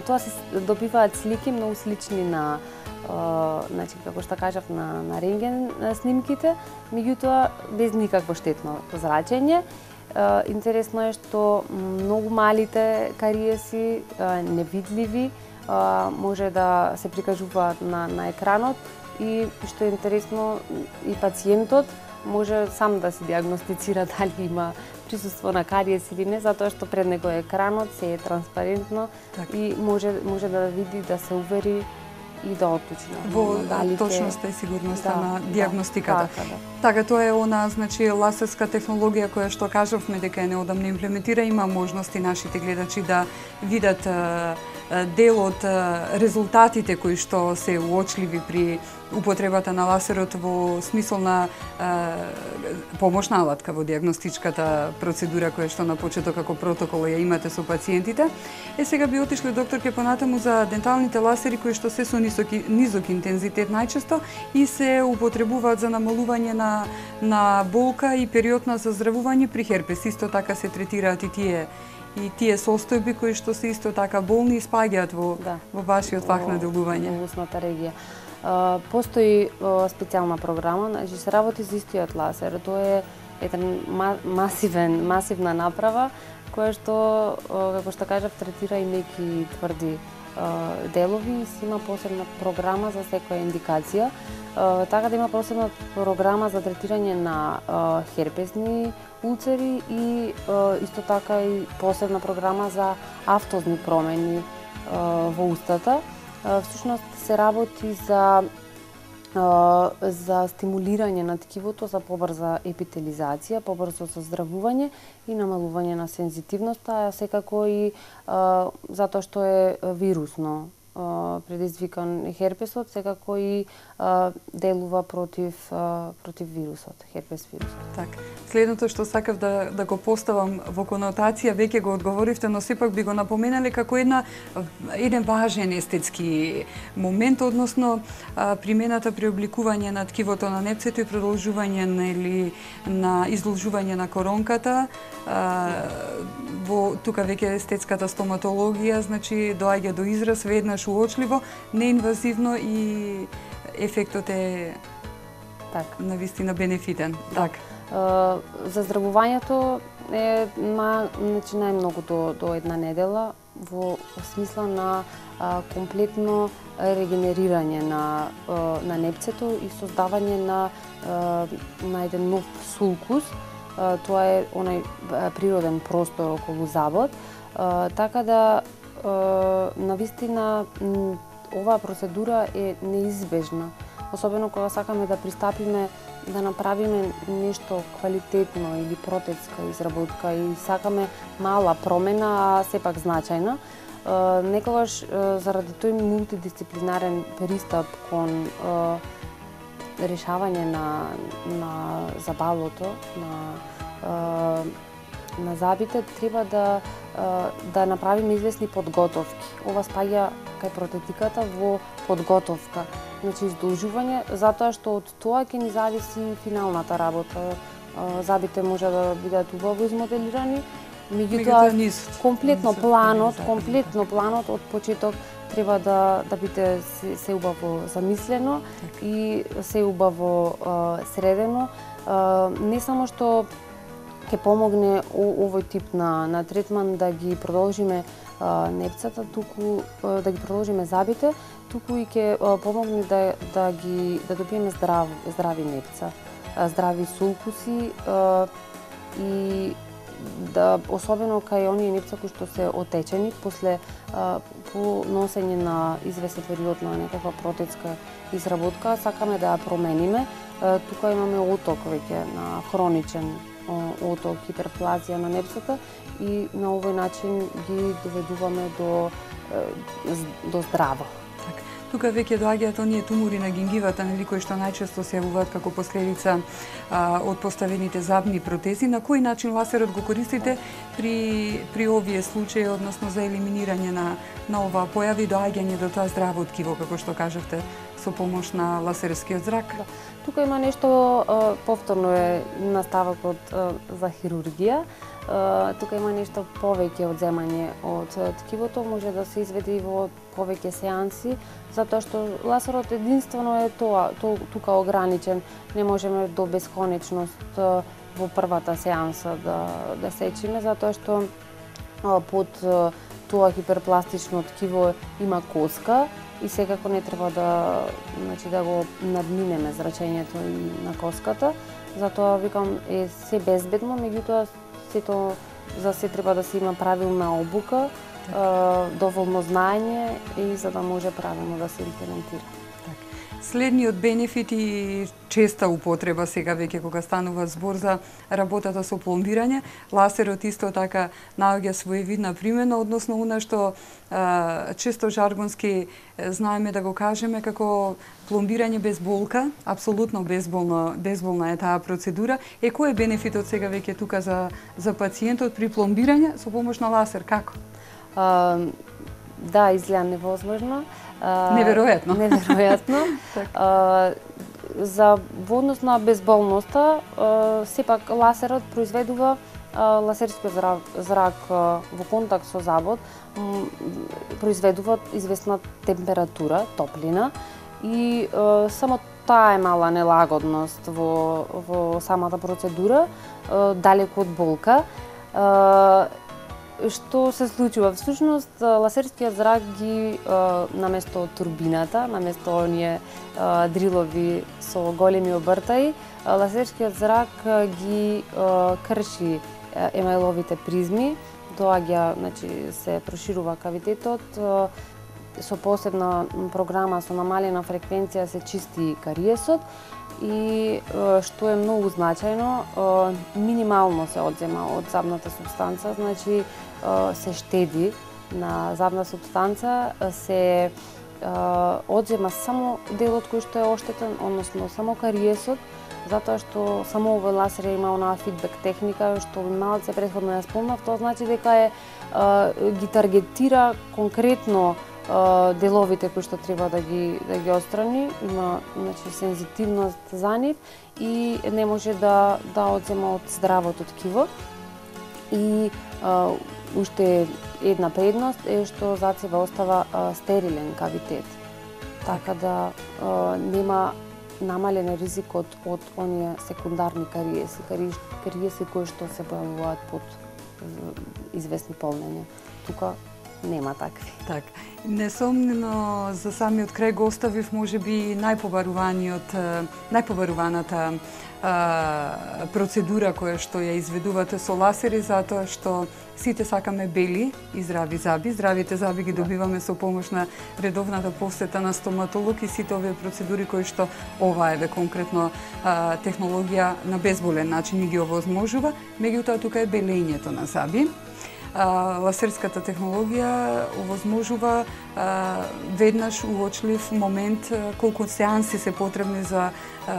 тоа се добиваат слики многу слични на значи како што кажав на на рентген снимките, меѓутоа без никакво штетно зрачење. Интересно е што многу малите кариеси, невидливи, може да се прикажуваат на на екранот и што е интересно и пациентот може сам да се диагностицира дали има присуство на кариес или не, затоа што пред него е екранот, се е транспарентно так. И може може да види, да се увери и да отлучи во точноста и сигурноста да, на диагностиката. Да, да. Така, тоа е она, значи, лазерска технологија која што кажавме дека е неодамно имплементира, има можности нашите гледачи да видат дел од резултатите кои што се уочливи при употребата на лазерот во смисол на е, помошна алатка во диагностичката процедура која што на почеток како протокол ја имате со пациентите. Е, сега би отишле докторке понатаму за денталните лазери кои што се со низок, низок интензитет најчесто и се употребуваат за намалување на, на болка и период на заздравување при херпес. Исто така се третираат и тие и тие состојби кои што се исто така болни и спаѓаат во, да. во вашиот фах на делување. Во устната регија. Uh, постои uh, специјална програма, значи се работи за истиот лазер. Тоа е еден ма масивен, масивна направа која што, uh, како што кажав, третира и неки тврди uh, делови и си има посебна програма за секоја индикација. Uh, така да има посебна програма за третирање на uh, херпесни улцери и uh, исто така и посебна програма за автозни промени uh, во устата. Всушност се работи за за стимулирање на ткивото за побрза епителизација, побрзо заздравување и намалување на сензитивноста, а секако и а, затоа што е вирусно предизвикан херпесот, секако и а, делува против а, против вирусот, херпес вирусот. Так. Следното што сакав да да го поставам во конотација, веќе го одговоривте, но сепак би го напоменале како една еден важен естетски момент, односно а, примената при обликување на ткивото на непцето и продолжување нели на изложување на коронката. А, во тука веќе естетската стоматологија, значи доаѓа до израз веднаш уочливо, неинвазивно и ефектот е так навистина бенефитен. Да. Так. Заздравувањето е ма, значи најмногу до до една недела во смисла на а, комплетно регенерирање на а, на непцето и создавање на а, на еден нов сулкус. А, тоа е онај природен простор околу забот. А, така да навистина оваа процедура е неизбежна, особено кога сакаме да пристапиме да направиме нешто квалитетно или протетска изработка и сакаме мала промена, а сепак значајна. Некогаш заради тој мултидисциплинарен пристап кон решавање на на забалото, на на забите, треба да да направиме известни подготовки. Ова спаѓа кај протетиката во подготовка. Значи издолжување, затоа што од тоа ќе ни зависи финалната работа. Забите може да бидат убаво измоделирани, меѓутоа комплетно планот, комплетно планот од почеток треба да да биде се, се убаво замислено и се убаво средено. Не само што ќе помогне овој тип на на третман да ги продолжиме а, непцата, туку а, да ги продолжиме забите, туку и ќе помогне да да ги да добиеме здрав здрави непца, а, здрави сулкуси а, и да особено кај оние непца кои што се отечени после а, по носење на извесен период на некаква протетска изработка, сакаме да ја промениме. А, тука имаме оток веќе на хроничен оток, хиперплазија на непцата и на овој начин ги доведуваме до до здраво. Так. тука веќе доаѓаат оние тумори на гингивата, нели, кои што најчесто се јавуваат како последица а, од поставените забни протези. На кој начин ласерот го користите при при овие случаи, односно за елиминирање на на ова појави, доаѓање до тоа здраво ткиво, како што кажавте, со помош на ласерскиот зрак? Да. Тука има нешто, повторно е наставокот за хирургија. Тука има нешто повеќе од земање од ткивото, може да се изведе и во повеќе сеанси, затоа што ласерот единствено е тоа, то, тука ограничен. Не можеме до бесконечност во првата сеанса да, да сечиме, затоа што под тоа хиперпластично ткиво има коска, и секако не треба да, значи, да го надминеме зрачењето и на коската. Затоа викам е се безбедно, меѓутоа сето за се треба да се има правилна обука, е, доволно знаење и за да може правилно да се имплементира. Следниот бенефит и честа употреба сега веќе кога станува збор за работата со пломбирање, ласерот исто така наоѓа своевидна примена, односно она што а, често жаргонски знаеме да го кажеме како пломбирање без болка, апсолутно безболна, безболна е таа процедура. Е, кој е бенефитот сега веќе тука за за пациентот при пломбирање со помош на ласер, како? А, да, изгледа невозможно. Неверојатно. Неверојатно. а, за во однос на безболноста, а, сепак ласерот произведува а, ласерскиот зрак, зрак а, во контакт со забот, м, произведува известна температура, топлина и а, само таа е мала нелагодност во, во самата процедура, а, далеку од болка. А, Што се случува? Всушност, ласерскиот зрак ги, наместо турбината, наместо оние дрилови со големи обртаи, ласерскиот зрак ги крши емајловите призми, доаѓа, значи, се проширува кавитетот, со посебна програма со намалена фреквенција се чисти кариесот и што е многу значајно, минимално се одзема од забната супстанца, значи се штеди на забна супстанца, се одзема само делот кој што е оштетен, односно само кариесот, затоа што само овој ласер има онаа фидбек техника што малце претходно ја спомнав, тоа значи дека е ги таргетира конкретно деловите кои што треба да ги да ги отстрани, има, значи, сензитивност за нив и не може да да одзема од здравото ткиво. И а, уште една предност е што зад себе остава а, стерилен кавитет. Така да а, нема намален ризикот од оние секундарни кариеси, кариеси кои што се појавуваат под известни полнења. Тука нема такви. Так. Несомнено за самиот крај го оставив можеби најпобаруваниот, најпобаруваната а, процедура која што ја изведувате со ласери, затоа што сите сакаме бели и здрави заби. Здравите заби ги добиваме со помош на редовната посета на стоматолог и сите овие процедури кои што ова еве конкретно а, технологија на безболен начин ги овозможува. Меѓутоа тука е белењето на заби. А, ласерската технологија овозможува а, веднаш уочлив момент а, колку сеанси се потребни за а,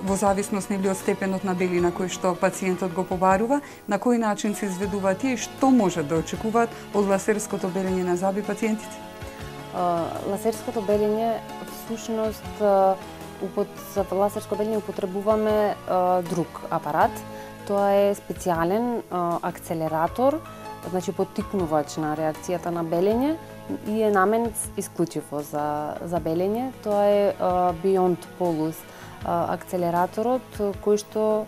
во зависност нели од степенот на белина кој што пациентот го побарува, на кој начин се изведува тие и што може да очекуваат од ласерското белење на заби пациентите? А, ласерското белење всушност за ласерско белење употребуваме а, друг апарат. Тоа е специјален а, акцелератор, значи поттикнувач на реакцијата на белење и е наменет исклучиво за за белење. Тоа е uh, Beyond Polus uh, акцелераторот кој што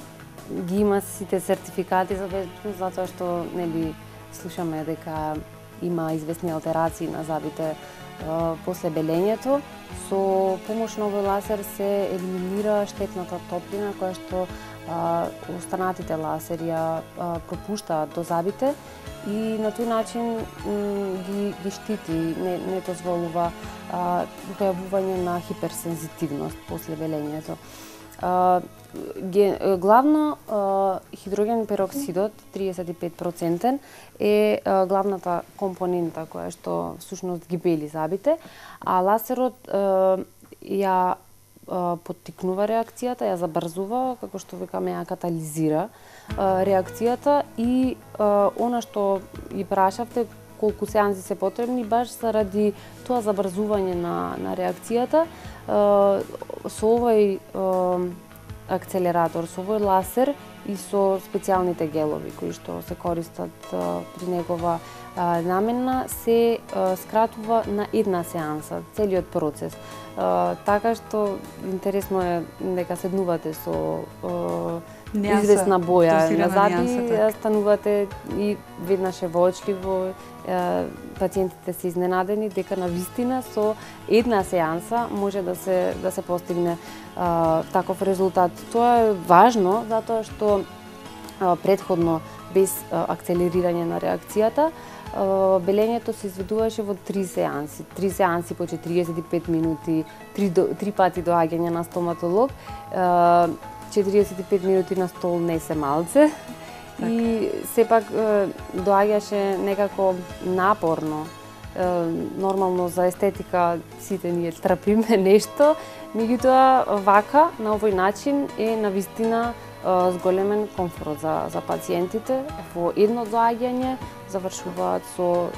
ги има сите сертификати за безбедност, затоа што нели слушаме дека има известни алтерации на забите uh, после белењето. Со помош на овој ласер се елиминира штетната топлина која што uh, останатите ласери ја uh, пропуштаат до забите и на тој начин ги, ги штити, не, не дозволува појавување на хиперсензитивност после белењето. Главно хидроген пероксидот, триесет и пет проценти, е главната компонента која што всушност ги бели забите, а ласерот ја поттикнува реакцијата, ја забрзува, како што викаме, ја катализира реакцијата и она што ги прашавте, колку сеанси се потребни, баш заради тоа забрзување на, на реакцијата, со овој акцелератор, со овој ласер и со специјалните гелови кои што се користат при негова намена, се скратува на една сеанса целиот процес. Така што интересно е дека седнувате со известна боја назади, станувате и веднаш е воочливо, пациентите се изненадени дека навистина со една сеанса може да се да се постигне а, таков резултат. Тоа е важно затоа што а, претходно без а, акцелерирање на реакцијата а, белењето се изведуваше во три сеанси. Три сеанси по четириесет и пет минути, три, три пати доаѓање на стоматолог. А, четириесет и пет минути на стол не се малце. Так. И сепак доаѓаше некако напорно. Нормално за естетика сите ние трпиме нешто, меѓутоа вака на овој начин е навистина зголемен комфорт за за пациентите. Во едно доаѓање завршуваат со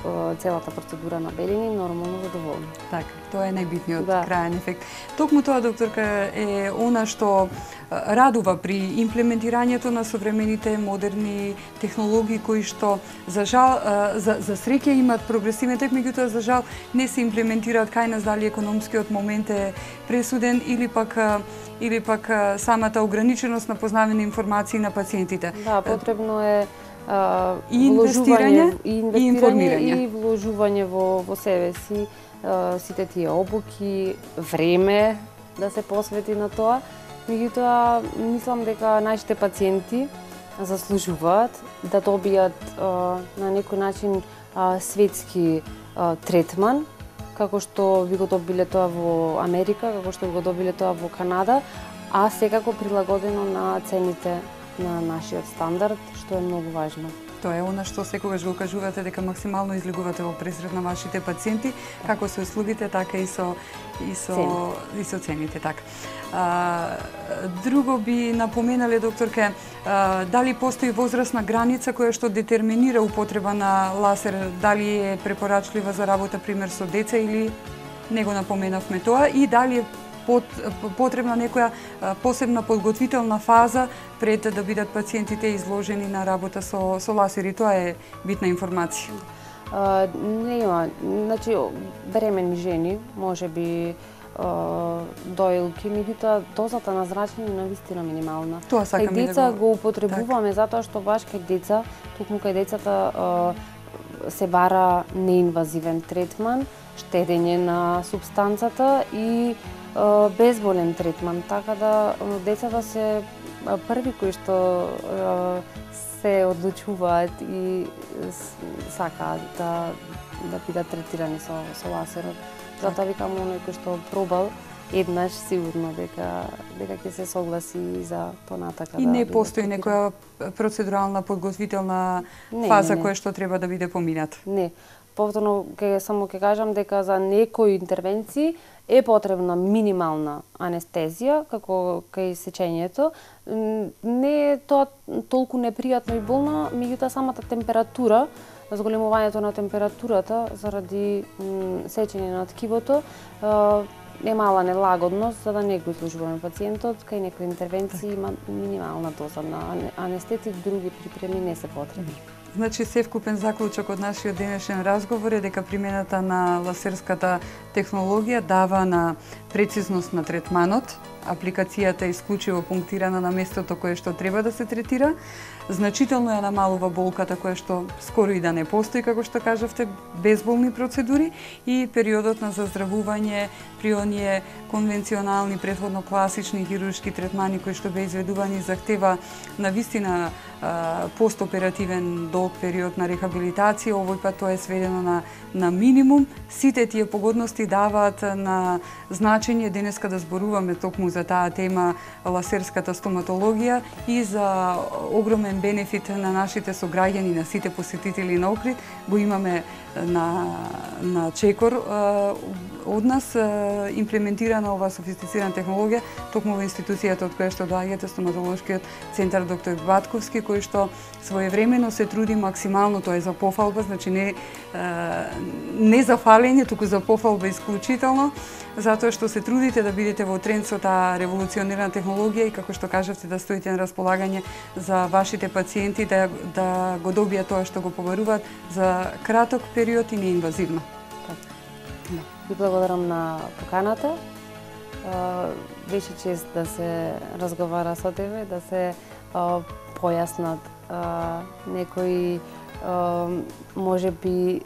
целата процедура на белење нормално задоволни. Така, тоа е најбитниот да. крајен ефект. Токму тоа, докторка, е она што радува при имплементирањето на современите модерни технологии кои што за жал за, за среќа имаат прогресивен тек, меѓутоа за жал не се имплементираат кај нас, дали економскиот момент е пресуден или пак или пак самата ограниченост на познавање информации на пациентите. Да, потребно е а, и инвестирање и, и информирање и вложување во во себе си, а, сите тие обуки, време да се посвети на тоа. Меѓутоа, мислам дека нашите пациенти заслужуваат да добијат а, на некој начин а, светски а, третман, како што би го добиле тоа во Америка, како што би го добиле тоа во Канада, а секако прилагодено на цените на нашиот стандард, што е многу важно. Тоа е она што секогаш го кажувате, дека максимално излегувате во пресред на вашите пациенти, како со услугите, така и со и со Цени. и со цените, така. А, друго би напоменале, докторке, а, дали постои возрастна граница која што детерминира употреба на ласер, дали е препорачлива за работа пример со деца или не го напоменавме тоа, и дали е потребна некоја посебна подготвителна фаза пред да бидат пациентите изложени на работа со со ласери. Тоа е битна информација. А, не има, значи бремени жени, можеби доилки, меѓутоа дозата на зрачење е навистина минимална. Тоа сакам кај деца да го... го употребуваме так. Затоа што баш кај деца, токму кај децата се бара неинвазивен третман, штедење на супстанцата и безболен третман, така да децата се први кои што се одлучуваат и сакаат да да бидат третирани со со ласерот. Затоа викам оној кој што пробал еднаш сигурно дека дека ќе се согласи за понатака. И да не постои некоја процедурална подготвителна не, фаза не, не. која што треба да биде помината. Не. Повторно ќе само ќе кажам дека за некои интервенции е потребна минимална анестезија, како кај сечењето. Не е тоа толку непријатно и болно, меѓутоа самата температура, зголемувањето на температурата заради сечење на ткивото е мала нелагодност, за да не го изложуваме пациентот. Кај некои интервенции има минимална доза на анестетик, други припреми не се потребни. Значи, севкупен заклучок од нашиот денешен разговор е дека примената на ласерската технологија дава на прецизност на третманот, апликацијата е исклучиво пунктирана на местото кое што треба да се третира, значително ја намалува болката која што скоро и да не постои, како што кажавте, безболни процедури, и периодот на заздравување при оние конвенционални, претходно класични хируршки третмани кои што беа изведувани захтева навистина постоперативен долг период на рехабилитација. Овој пат тоа е сведено на, на минимум. Сите тие погодности даваат на значење денеска да зборуваме токму за таа тема ласерската стоматологија и за огромен бенефит на нашите сограѓани, на сите посетители на Охрид. Го имаме на, на Чекор од нас имплементирана ова софистицирана технологија, токму во институцијата од која што доаѓате, стоматолошкиот центар доктор Батковски, кој што своевремено се труди максимално, тоа е за пофалба, значи не не за фалење, туку за пофалба исклучително, затоа што се трудите да бидете во тренд со таа револуционирана технологија и како што кажавте да стоите на располагање за вашите пациенти да да го добијат тоа што го побаруваат за краток период и неинвазивно. Да. Ви благодарам на поканата. Беше чест да се разговара со тебе, да се појаснат некои може би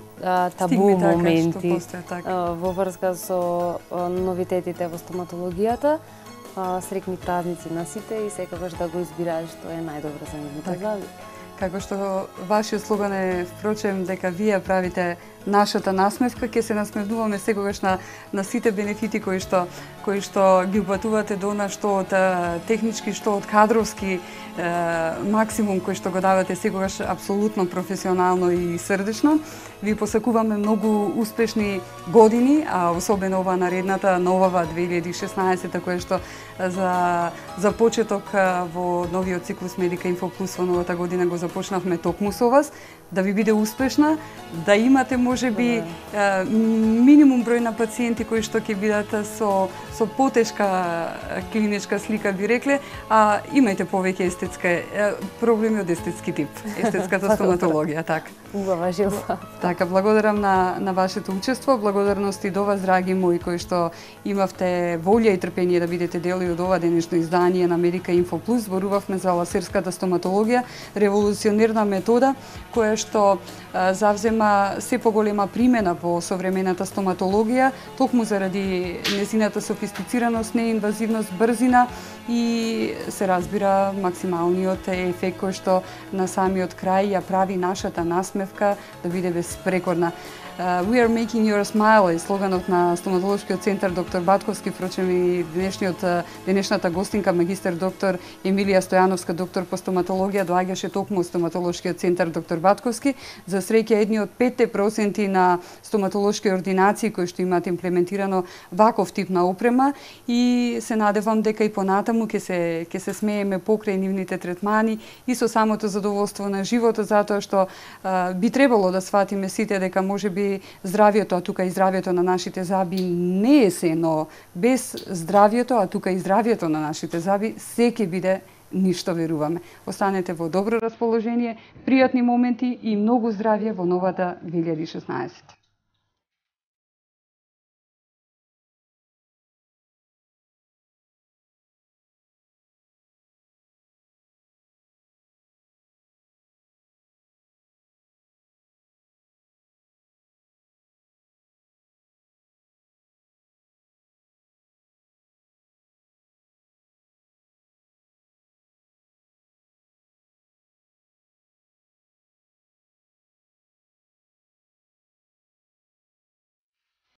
табу моменти во врска со новитетите во стоматологијата. Среќни празници на сите и секогаш да го избираат што е најдобро за нивните зъби. Како што вашиот слоган е, впрочем, дека вие правите нашата насмевка, ќе се насмевнуваме секогаш на, на сите бенефити кои што, кои што ги упатувате до нас, што од технички, што од кадровски е, максимум кој што го давате секогаш апсолутно професионално и срдечно. Ви посакуваме многу успешни години, а особено ова наредната, новава две илјади и шеснаесета, која што за, за почеток во новиот циклус Медика Инфо Плюс во новата година го започнавме токму со вас, да ви биде успешна, да имате можеби да. минимум број на пациенти кои што ќе бидат со со потешка клиничка слика, би рекле, а имајте повеќе естетска проблеми од естетски тип, естетската стоматологија, така. Убава жилба. Така, благодарам на на вашето учество, благодарности до вас, драги мои, кои што имавте волја и трпение да бидете дел и од ова денешно издание на Медика Инфо Плюс. Зборувавме за ласерската стоматологија, револуционерна метода која што а, завзема се поголема примена во современата стоматологија, токму заради незината софистицираност, неинвазивност, брзина и се разбира максималниот ефект кој што на самиот крај ја прави нашата насмевка да биде безпрекорна. Uh, we are making your smile е слоганот на стоматолошкиот центар доктор Батковски, впрочем и денешниот денешната гостинка магистер доктор Емилија Стојановска, доктор по стоматологија, доаѓаше токму од стоматолошкиот центар доктор Батковски. За среќа едни од петте проценти на стоматолошки ординации кои што имаат имплементирано ваков тип на опрема и се надевам дека и понатаму ќе се ќе се смееме покрај нивните третмани и со самото задоволство на животот, затоа што uh, би требало да сватиме сите дека можеби здравието, а тука и здравието на нашите зъби не е се, но без здравието, а тука и здравието на нашите зъби се ќе биде ништо, веруваме. Останете во добро расположение, пријатни моменти и многу здравје во новата две илјади и шеснаесета.